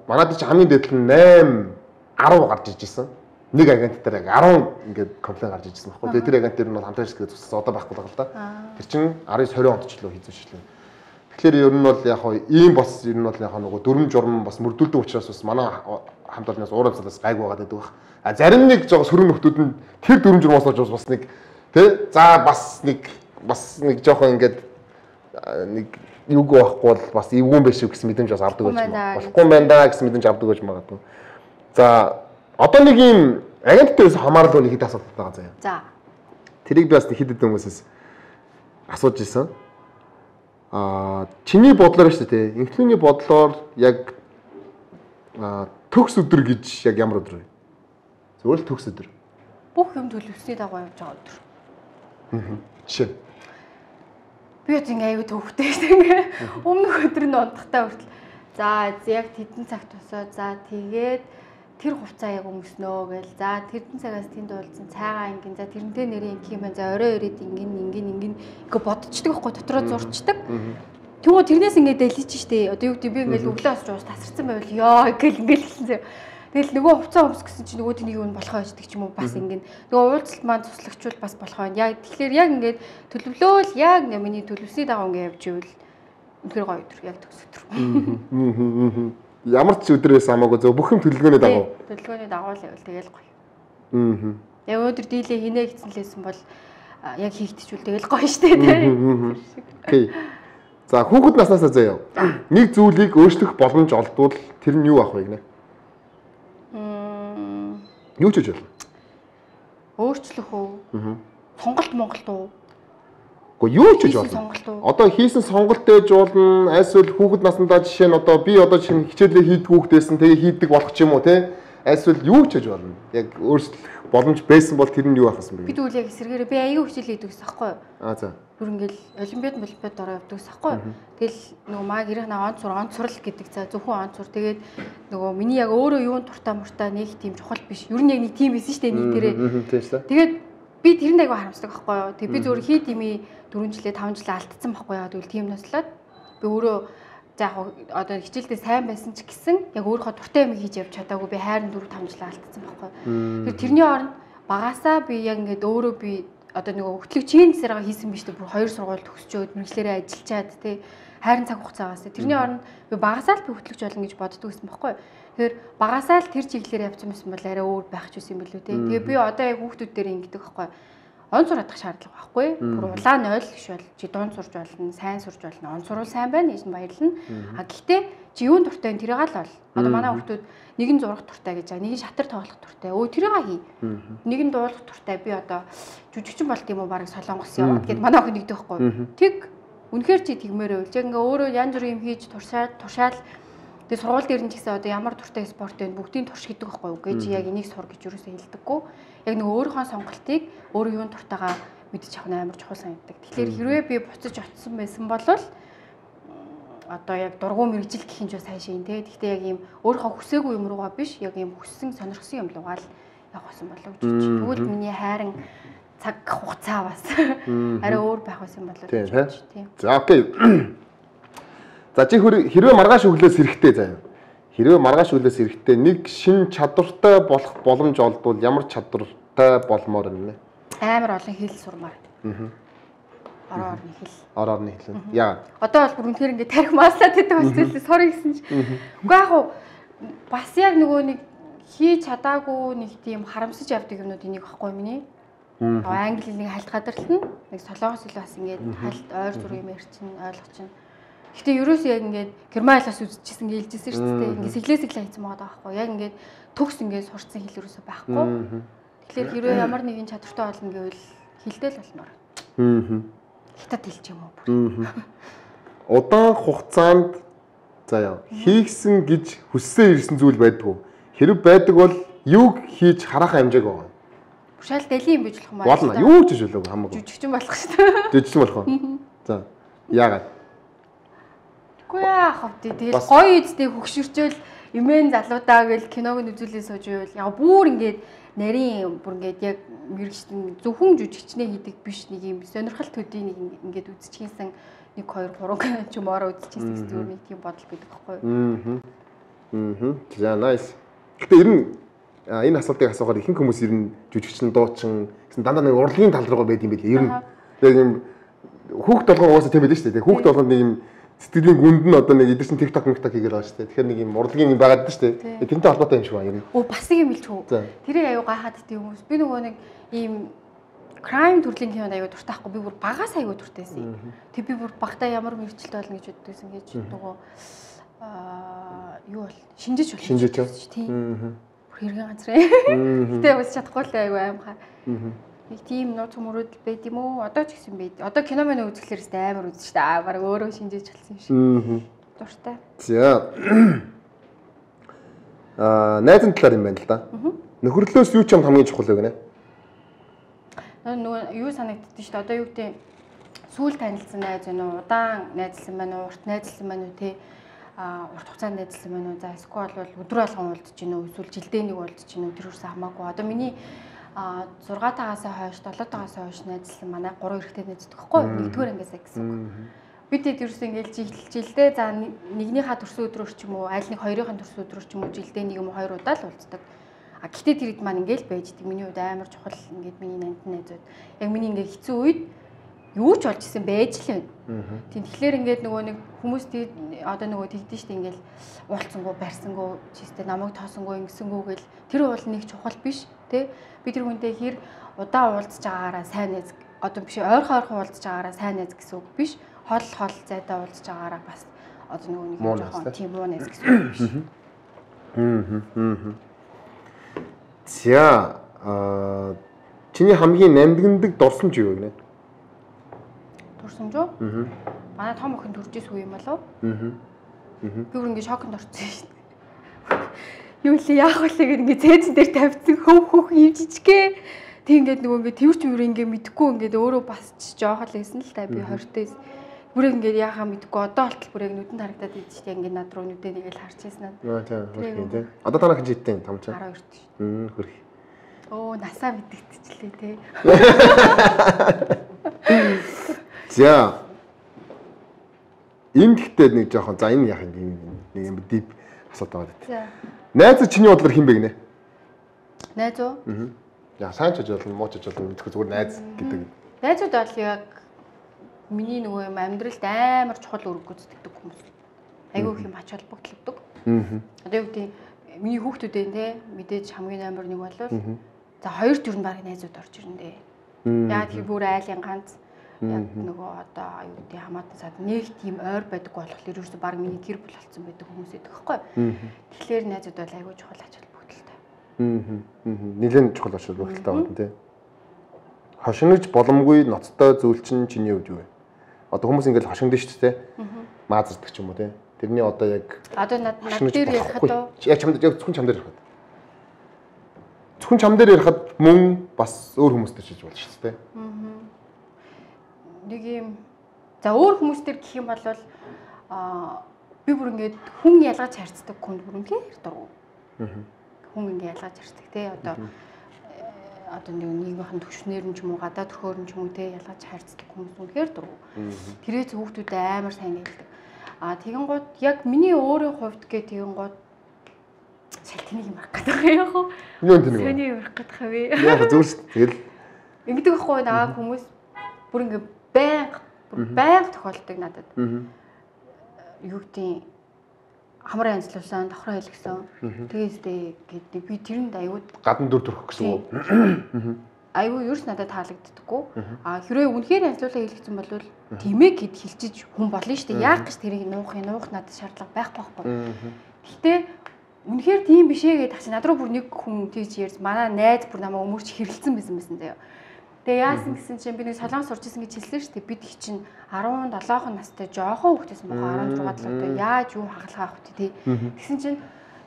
Манайд ч хамгийн дээд нь 8 10 гарч иж исэн. Нэг агент дээр 10 ингээд комплейн гарч ижсэн байхгүй. Тэгээ тэр агент дээр нь бол хамтрагч гэдэг цус одоо байхгүй л да. Тэр чинь 19-20 онд ч лөө хийзүүлсэн. Тэгэхээр ер нь бол яг хоо ийм бас ер нь бол яг нөгөө дөрвөн журам бас мөрдүүлдэг учраас бас манай хамт олноос уур амьсгалаас гайгүй байгаа гэдэг баг. Зарим нэг жоо сөрөг нөхдүүд нь тэр дөрвөн журмаас олж бас нэг тий за бас нэг жоохон ингээд нэг юуг байхгүй бол бас эвгүй байх шүү гэсэн мэдрэмж бас авдаг байж магадгүй. Болохгүй байна да гэсэн мэдрэмж авдаг байж магадгүй. За одоо нэг юм агентдээс хамаарал нэг хэд асуудал байгаа заяа. За. Тэрийг би бас хэд хэдэн хүмүүсээс асууж ирсэн. Чиний бодлоор шүү дээ. Инфлюний бодлоор яг төгс өдөр гэж яг ямар өдөр вэ? Зөвхөн төгс өдөр. Бүх юм төлөвлөсний дагуу явж байгаа өдөр. Жишээ. Би яг аюу төвхтэй шүү. Өмнөх өдөр нь унтахтаа хүртэл. За яг тэдэн цагт тусаа. За тэгээд тэр хувцаа яг өмснөө гээл. За тэрдэн цагаас тэнд уулзсан цайгаа ингэн. За тэрнтэй нэрийн ингэх юм байна. За орой ирээд ингэн ингээ бодчихдаг байхгүй дотроо зурчдаг. Тэгвэл тэрнээс ингээд дэлж штэ. Одоо юу гэдэг би ингээд өглөө осч уус тасарсан байвал ёо гэл ингээд хэлсэн зэ. Тэгэл нөгөө хувцас өмс гэсэн чинь нөгөө тэнийг юу болохоо яждаг ч юм уу бас ингээд нөгөө уулзалт маань цуцлагчвал бас болохоо. Яг тэгэхээр яг ингээд төлөвлөөл яг миний төлөвсний дагуу ингээд явж ивэл үнэхээр гоё өдөр яг төгс өдөр. Ямар ч өдөр байсан хамаагүй зөв бүх юм төлөвлөгөөний дагуу. Төлөвлөгөөний дагуу л байвал тэгэл гоё. Яг өнөөдөр дийлээ хийнэ гэсэн лээсэн бол яг хийгдчихвэл тэгэл гоё штэ тийм. Окей. За хүүхэд наснаас заяа. Нэг зүйлийг өөрчлөх боломж олдвол тэр нь юу ах вэ гинэ? Юу ч гэж болно. Өөрчлөх үү? Сонголт Монголд уу? Гэхдээ юу ч гэж болно. Одоо хийсэн сонголт ээж болно. Айсвал хүүхэд наснаа жишээ нь одоо би одоо чинь хичээлээ хийдэг хүүхдээсэн тэгээ хийдэг болох ч юм уу те. Айсвал юу ч гэж болно. Яг өөрчлөх боломж байсан бол тэр нь юу ахсан бэ? Би тэгвэл яг эсэргээрээ би аягүй хичээл хийдэг гэсэн байхгүй юу? За. Бүр ингээл олимпиад ороо явдаг гэсэн байхгүй юу? Тэгэл нөгөө маа гэрийнхээ онцурал гэдэг за зөвхөн онцур тэгээд нөгөө миний яг өөрөө юунд туртаа нэг тийм чухал биш. Ер нь яг нэг тийм байсан шүү дээ нийтээрээ. Тэгээд би тэрэнд аягүй харамсдаг байхгүй юу? Тэг би зөвхөн хий дими 4 жилээ 5 жилээ алдсан байхгүй юу? Тэгвэл тийм наслаад би өөрөө за яг одоо хичээлдээ сайн байсан ч гэсэн яг өөрийнхөө дуртай юм хийж явж чадаагүй би хайрын 4 5 жил алдсан байхгүй. Тэр тэрний оронд багасаа би яг ингээд өөрөө би одоо нөгөө хөтлөгчийн засаараа хийсэн биш үү бүр 2 сургууль төгсчөөд мэрэгчлэрээ ажиллачаад тий хайрын цаг хугацаагаас тэрний оронд би багасаа л би хөтлөгч болно гэж боддог байсан байхгүй. Тэгэхээр багасаа л тэр чиглэлээр явсан байсан бол арай өөр байх ч үсэн юм билүү тий. Тэгээ би одоо яг хүүхдүүд дээр ингэдэг байхгүй. Он сураадах шаардлага байхгүй. Бүр улаан 0 биш бол чи дунд сурж болно, сайн сурж болно. Он сурвал сайн байна, ийш нь баярлна. А гэхдээ чи юунд дуртай вэ? Тэрийг л бол. Одоо манай хүүхдүүд нэг нь зурах дуртай гэж байгаа, нэг нь шатар тоглох дуртай. Өө тэрийг хий. Нэг нь дуулах дуртай. Би одоо жүжигчин болт юм уу барыг Солонгос яваад гэд манай охин нэгдэх байхгүй. Тэг үнэхээр чи тэгмээр байвал яг ингээ өөрөө янз бүрийн юм хийж туршаал тэгээ сургууль дээр нь ч гэсэн одоо ямар дуртай спорт вэ бүгдийг турш гэдэг байхгүй юу гэж яг энийг сур гэж юусоо хэлдэггүй. Яг нэг өөрийнхөө сонголтыг өөрөө юунд дуртайгаа мэдчих авах амар чухал санагддаг. Тэгэхээр хэрвээ би буцаж очсон байсан бол одоо яг дургуй мэрэгжил гэх юм ч сайн шин тий. Гэхдээ яг ийм өөрийнхөө хүсээгүй юм руугаа биш яг ийм хүссэн сонирхсан юм руугаа л явах байсан болов гэж байна. Тэгвэл миний хайрын цаг хугацаа бас арай өөр байх байсан болов гэж байна тий. За окей. За чи хэрвээ маргааш өглөөс эрэхтэй заяа. Хэрвээ маргааш өглөөс эрэхтэй нэг шин чадвартай болох боломж олдвол ямар чадвартай болмоор юм бэ? Амар олон хэл сурмаар. Ороо орны хэл. Ороо орны хэл. Яа. Одоо бол бүр үнэхээр ингээд тарих маслаад гэдэг болчихлоо сорё гэсэн чи. Үгүй яг уу бас яг нөгөө нэг хийж чадаагүй нэг тийм харамсаж явдаг юмнууд энийг баггүй миний. Англи хэлний хальт гадарлна. Нэг солонгос хэл бас ингээд хальт ойр зүрх юм ярьчин ойлгоч чинь. Гэтэ ерөөсөө яг ингээд герман хэлээс үзчихсэн гэлжсэн шүү дээ. Ингээд сэглээ хийсэн байгаа байхгүй. Яг ингээд төгс ингээд сурцсан хэл ерөөсөө байхгүй. Тэгэхээр хэрвээ ямар нэгэн чадвартай болно гэвэл хэлдэл болноор. Хятад хэлч юм уу бүр. Удаан хугацаанд заяа хийгсэн гэж хүссэн ирсэн зүйл байдгүй. Хэрэг байдаг бол юуг хийж харах хэмжээг байгаа. Шал дэлхийн юм биш болох маа. Болно. Юу ч биш болов хамаагүй. Жүжигчин болох шүү дээ. Жүжигчин болох уу? За. Яагаад? Үгүй яах вэ? Тэгэл гоё үстэй хөгшөрчөөл эмээн залуудаа гэл киног нь үзүүлээ сууж байвал яг бүр ингээд нарийн бүр ингээд яг мэрэгчтэн зөвхөн жүжигчнээ хийдэг биш нэг юм сонирхол төдий нэг ингээд үзчихсэн 1 2 3 ч юм ороо үзчихсэн гэсэн нэг тийм бодол байдаг байхгүй. За nice. Гэтэ ер нь энэ асуултыг асуухаар ихэнх хүмүүс ер нь жүжигчин дуучин гэсэн дандаа нэг урлагийн тал руу байд юм байл. Ер нь яг юм хүүхд толгой угаасаа тийм байдаг шүү дээ. Хүүхд толгойд нэг юм сэтгэлийн гүнд нь одоо нэг эдэрсэн TikTok хийгээд байгаа шүү дээ. Тэгэхээр нэг юм урлагийн юм байгаад дээ шүү дээ. Тэрнтэй холбоотой юм шиг байна ер нь. Оо бас нэг юм хэлчихв. Тэрийг аюу гайхаад дий хүмүүс. Би нөгөө нэг ийм crime төрлийн кинонд аюу дуртай байхгүй. Би бүр багаас аюу дуртайсэн. Тэг би бүр багтаа ямар мэрэгчлээ болно гэж боддогсэн гэж нөгөө юу бол шинжиж болно. Шинжиж тийм. Бүр хэрхэн ганцраа. Гэтэ бас чадахгүй л аюу аимхаа. Нэг тийм нууц хүмүүрүүд байд юм уу? Одоо ч гэсэн байд. Одоо кино мань үзэхлээр өстэй амар үзэж та. Бараг өөрөө шинжиж болсон юм шиг. Дуртай. За. Найзын талаар юм байна л да. Нөхөрлөөс юу ч юм хамгийн чухал вэ гэнэ? Нөгөө юу санагддээ шүү дээ. Одоо юу гэдэг сүүл танилцсан найз байна уу? Удаан найзлсан байна уу? Урт найзлсан байна уу те? Урт хугацаанд найзлсан байна уу? За эсвэл бол өдөр болгон уулзж гин үү? Эсвэл жилдээ нэг уулзж гин үү? Тэр үс хамаагүй. Одоо миний 6-таагаас хойш 7-таагаас хойш найзлсан манай 3 эрэгтэй найздаг хгүй. Нэгдүгээр ангиасаа гэсэн үг. Бидэд ерөөсөө ингээл жилдээ за нэгнийхээ төрсөн өдрөөр ч юм уу аль нэг хоёрын төрсөн өдрөөр ч юм уу жилдээ нэг юм уу 2 удаа л уулздаг. А гэтээ тэр хэд маань ингээл байждаг. Миний хувьд амар чухал ингээд миний нандин найзууд. Яг миний ингээд хэцүү үед юу ч болж исэн байж л байна. Тийм тэгэхээр ингээд нөгөө нэг хүмүүс одоо нөгөө тэгдэж штэ ингээл уулцсангүй барьсангүй чистэ намайг тоосонгүй ингэсэнгүү гэл тэр бол нэг чухал биш тий. Би тэр хүнтэй хэр удаа уулзж байгаагаараа сайн найз одоо биш ойрхон уулзж байгаагаараа сайн найз гэсэн үг биш. Хол зайдаа уулзж байгаагаараа бас одоо нөгөө нэг жоохон тийм муу найз гэсэн үг биш. За чиний хамгийн нандиндаг дурсамж юу вэ? Дурсамж уу? Манай том охин төрж ирсэн үе юм болов? Би бүр ингэ шоконд орсон шүү дээ. Юу л яах вэ гэдэг ингэ цээжин дээр тавьсан хөөх юм жижиггээ. Тэг ингээд нөгөө ингэ тэрч мөр ингэ мэдхгүй ингээд өөрөө бас жоох л байсан л та би 20-тээс. Бүрээ ингээд яахаа мэдхгүй одоо болтол бүрээ нүдэнд харагдаад идэв чинь ингээд над руу нүдээ нэг л харж байсан аа. Тийм. Одоо танах жидтэй том ч. 12 ч. Хөрх. Оо насаа мэддэгтчлээ те. За. Энэ гэхдээ нэг жоохон за энэ яах юм дип асуулт байгаа дээ. За. Найз чиний бодлоор хэн бэ гинэ? Найз уу? Яа сайн ч болно, муу ч болно мэдхгүй зүгээр найз гэдэг. Найзууд бол яг миний нөгөө юм амьдралд амар чухал үүрэг гүйцэтгэдэг хүмүүс. Айгүй их юм ач холбогдолтой. Одоо юу гэдэг миний хүүхдүүдээ те мэдээж хамгийн амар нэг бол за хоёр төр нь баг найзууд орж ирнэ дээ. Яа тэр бүр айлын ганц яг нөгөө одоо юу гэдэг хамаатан сад нэг тийм ойр байдаг болохоор ерөөсө баг миний гэр бүл болсон байдаг хүмүүс байдаг байхгүй. Тэгэхээр найзууд бол айгүй чухал ач холбогдолтой. Нилээн чухал ач холбогдолтой байна те. Хошигнож боломгүй ноцтой зүйл чинь чиний хувьд юу вэ? Одоо хүмүүс ингээл хошигдсон шүү дээ. Маазардаг ч юм уу те. Тэрний одоо яг одоо над дээр ярихад яг чамд яг зөвхөн чам дээр ярихад. Зөвхөн чам дээр ярихад мөн бас өөр хүмүүстэй чиж болно шүү дээ. Нэг юм за өөр хүмүүстэр гэх юм бол би бүр ингээд хүн ялгаж харьцдаг хүнд бүр үнэхээр дургу. Хүн ингээд ялгаж харьцдаг те одоо нэг нийгмийн төвшнөр нь ч юм уу гадаад төхөөр нь ч юм уу те ялгаж харьцдаг хүмүүс үнэхээр дургу. Тэрээс хүүхдүүд амар сайн гэлдэг. Тэгэн гууд яг миний өөрийн хувьд гэх тэгэн гууд шалтгааныг юм арах гэдэг юм яах вэ? Юу энэ нэг. Сэний юм арах гэдэг вэ? Яг зөвс тэгэл ингэдэг байхгүй наа хүмүүс бүр ингээд байнга тохиолдог надад. Юу гэдэг хамраа янзлуулсан, давхраа хэлгсэн. Тэгээстэй гэдэг би тэрэнд аюуд гадна дүр төрөх гэсэн үү? Аюу ерөөс надад таалагддаггүй. Хэрвээ үнэхээр янзлуулаа хэлгсэн бол тэмээ гэд хэлчиж хүн болно шүү дээ. Яах гэж тэрийг нуух надад шаардлага байхгүй байхгүй. Гэхдээ үнэхээр тийм биш ээ гэдэг чинь над руу бүр нэг хүн тийж ярьж манай найз бүр намайг өмөрч хэрэлцэн байсан заяа. Тэгээ яасан гэсэн чинь би нэг солонгос сурч исэн гэж хэлсэн шүү дээ. Бид их чинь 17 настай жоохон хүүхдээс мохоо 16 талтай яаж юу хагалгаа авах вэ тий. Тэгсэн чинь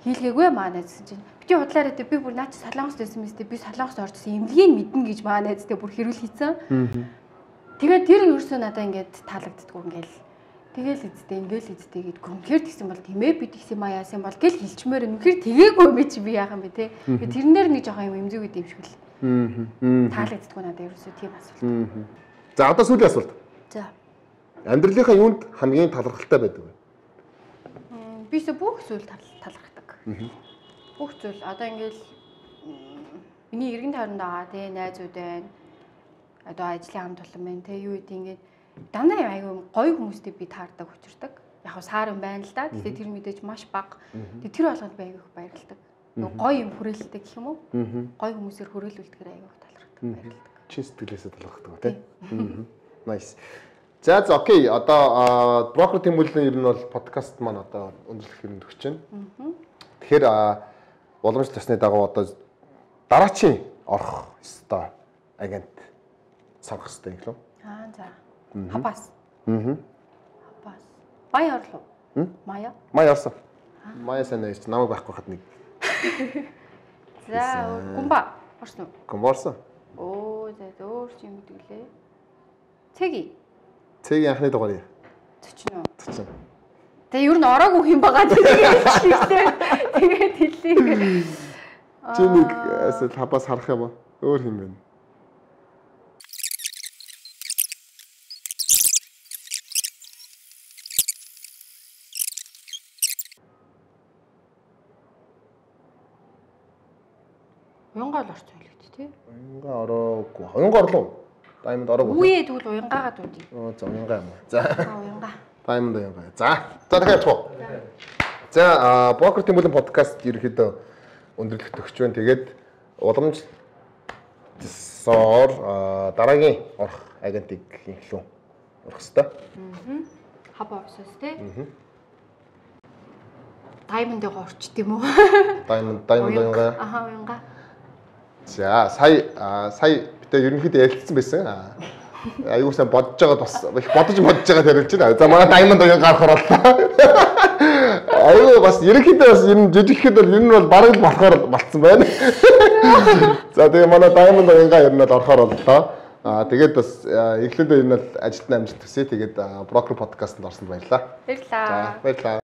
хийлгээгүй маа найзсан чинь бити худлаараа тий би бүр наа чи солонгост байсан мэт би солонгост орчихсон эмнэлгийг мэднэ гэж маа найзтай бүр хэрүүл хийцэн. Тэгээд тэр ерөөсөө надаа ингээд таалагддаггүй ингээл тэгэл эзтэй гэд гүнхээр тэгсэн бол тийм ээ би тэгсэн маа яасан бол гэл хэлчмээр үнэхээр тэгээгүй юм чи би яах юм бэ тий. Тэгээд тэрнээр нэг жоохон юм эмзэг үт юм шиг л. Таалагддаггүй надад ерөөсөө тийм асуулт. За одоо сүүлийн асуулт. За. Амьдралынхаа юунд хамгийн талархалтай байдаг вэ? Бисээ бүх зүйл талархдаг. Бүх зүйл одоо ингээл миний эргэн тойронд байгаа тий найзууд байна. Одоо ажлын хамт олон байна тий юу гэдэг ингээд дандаа аюу гоё хүмүүстэй би таардаг учирдаг. Яг саар юм байна л да. Гэхдээ тэр мэдээж маш бага. Тэр болгонд би аюу их баярлдаг. Гоё юм хүрээлэлтэй гэх юм уу? Гоё хүмүүсээр хүрээлүүлдэгээр аюу их талархдаг баярлдаг. Чин сэтгэлээсээ талархдаг тий. Nice. За окей. Одоо брокер тэмүүлэн ер нь бол подкаст маань одоо өндөрлөх юм төгсөж байна. Тэгэхээр боломж тасны дагуу одоо дараачийн орох ёстой агент сонгох ёстой юм лөө. За. Хабас. Хабас. Мая орлоо. Мая орсон. Мая санаа яж намайг байхгүй хад нэг. За, гумба орсон уу? Гумба орсон. Оо, за өөр ч юм гэдгэлээ. Цэгийн анхны дугаар яа? 40. Тэгээ ер нь ороогүй юм байгаа тэгээд хэлээ. Чи нэг эсвэл хабас харах юм уу? Өөр юм бэ? Уянгаа л орсон байлгүй тий. Уянгаа ороогүй. Уянгаа орлоо. Diamond ороогүй. Үе тэгвэл уянгаагаа дуудъя. За уянгаа юм. За. Уянгаа. Diamond уянгаа. За дахиад туу. За Poker Team-ийн подкаст ерөөхдөө өндөрлөх төгсч байна. Тэгээд уламжлалсоор дараагийн орох агентыг инхлүү орох хэвээр. Хабаа орсоос тий. Diamond-ыг орчт юм уу? Diamond уянгаа. Уянгаа. За сая бид ерөнхийдөө ярилцсан байсан. Аюу сайн бодож байгаа бас их бодож байгаа тарилж байна. За манай Diamond уянгаа гарах орлоо. Аюу бас ерөнхийдөө бас энэ жижигхэд бол ер нь бол бараг болохоор болцсон байна. За тэгээ манай Diamond уянгаа ер нь бол орохоор боллоо. Тэгээд бас эхлээд ер нь бол ажилтны амжилт хүсье. Тэгээд Broker podcast-д орсонд баярлалаа. Баярлалаа. За баярлалаа.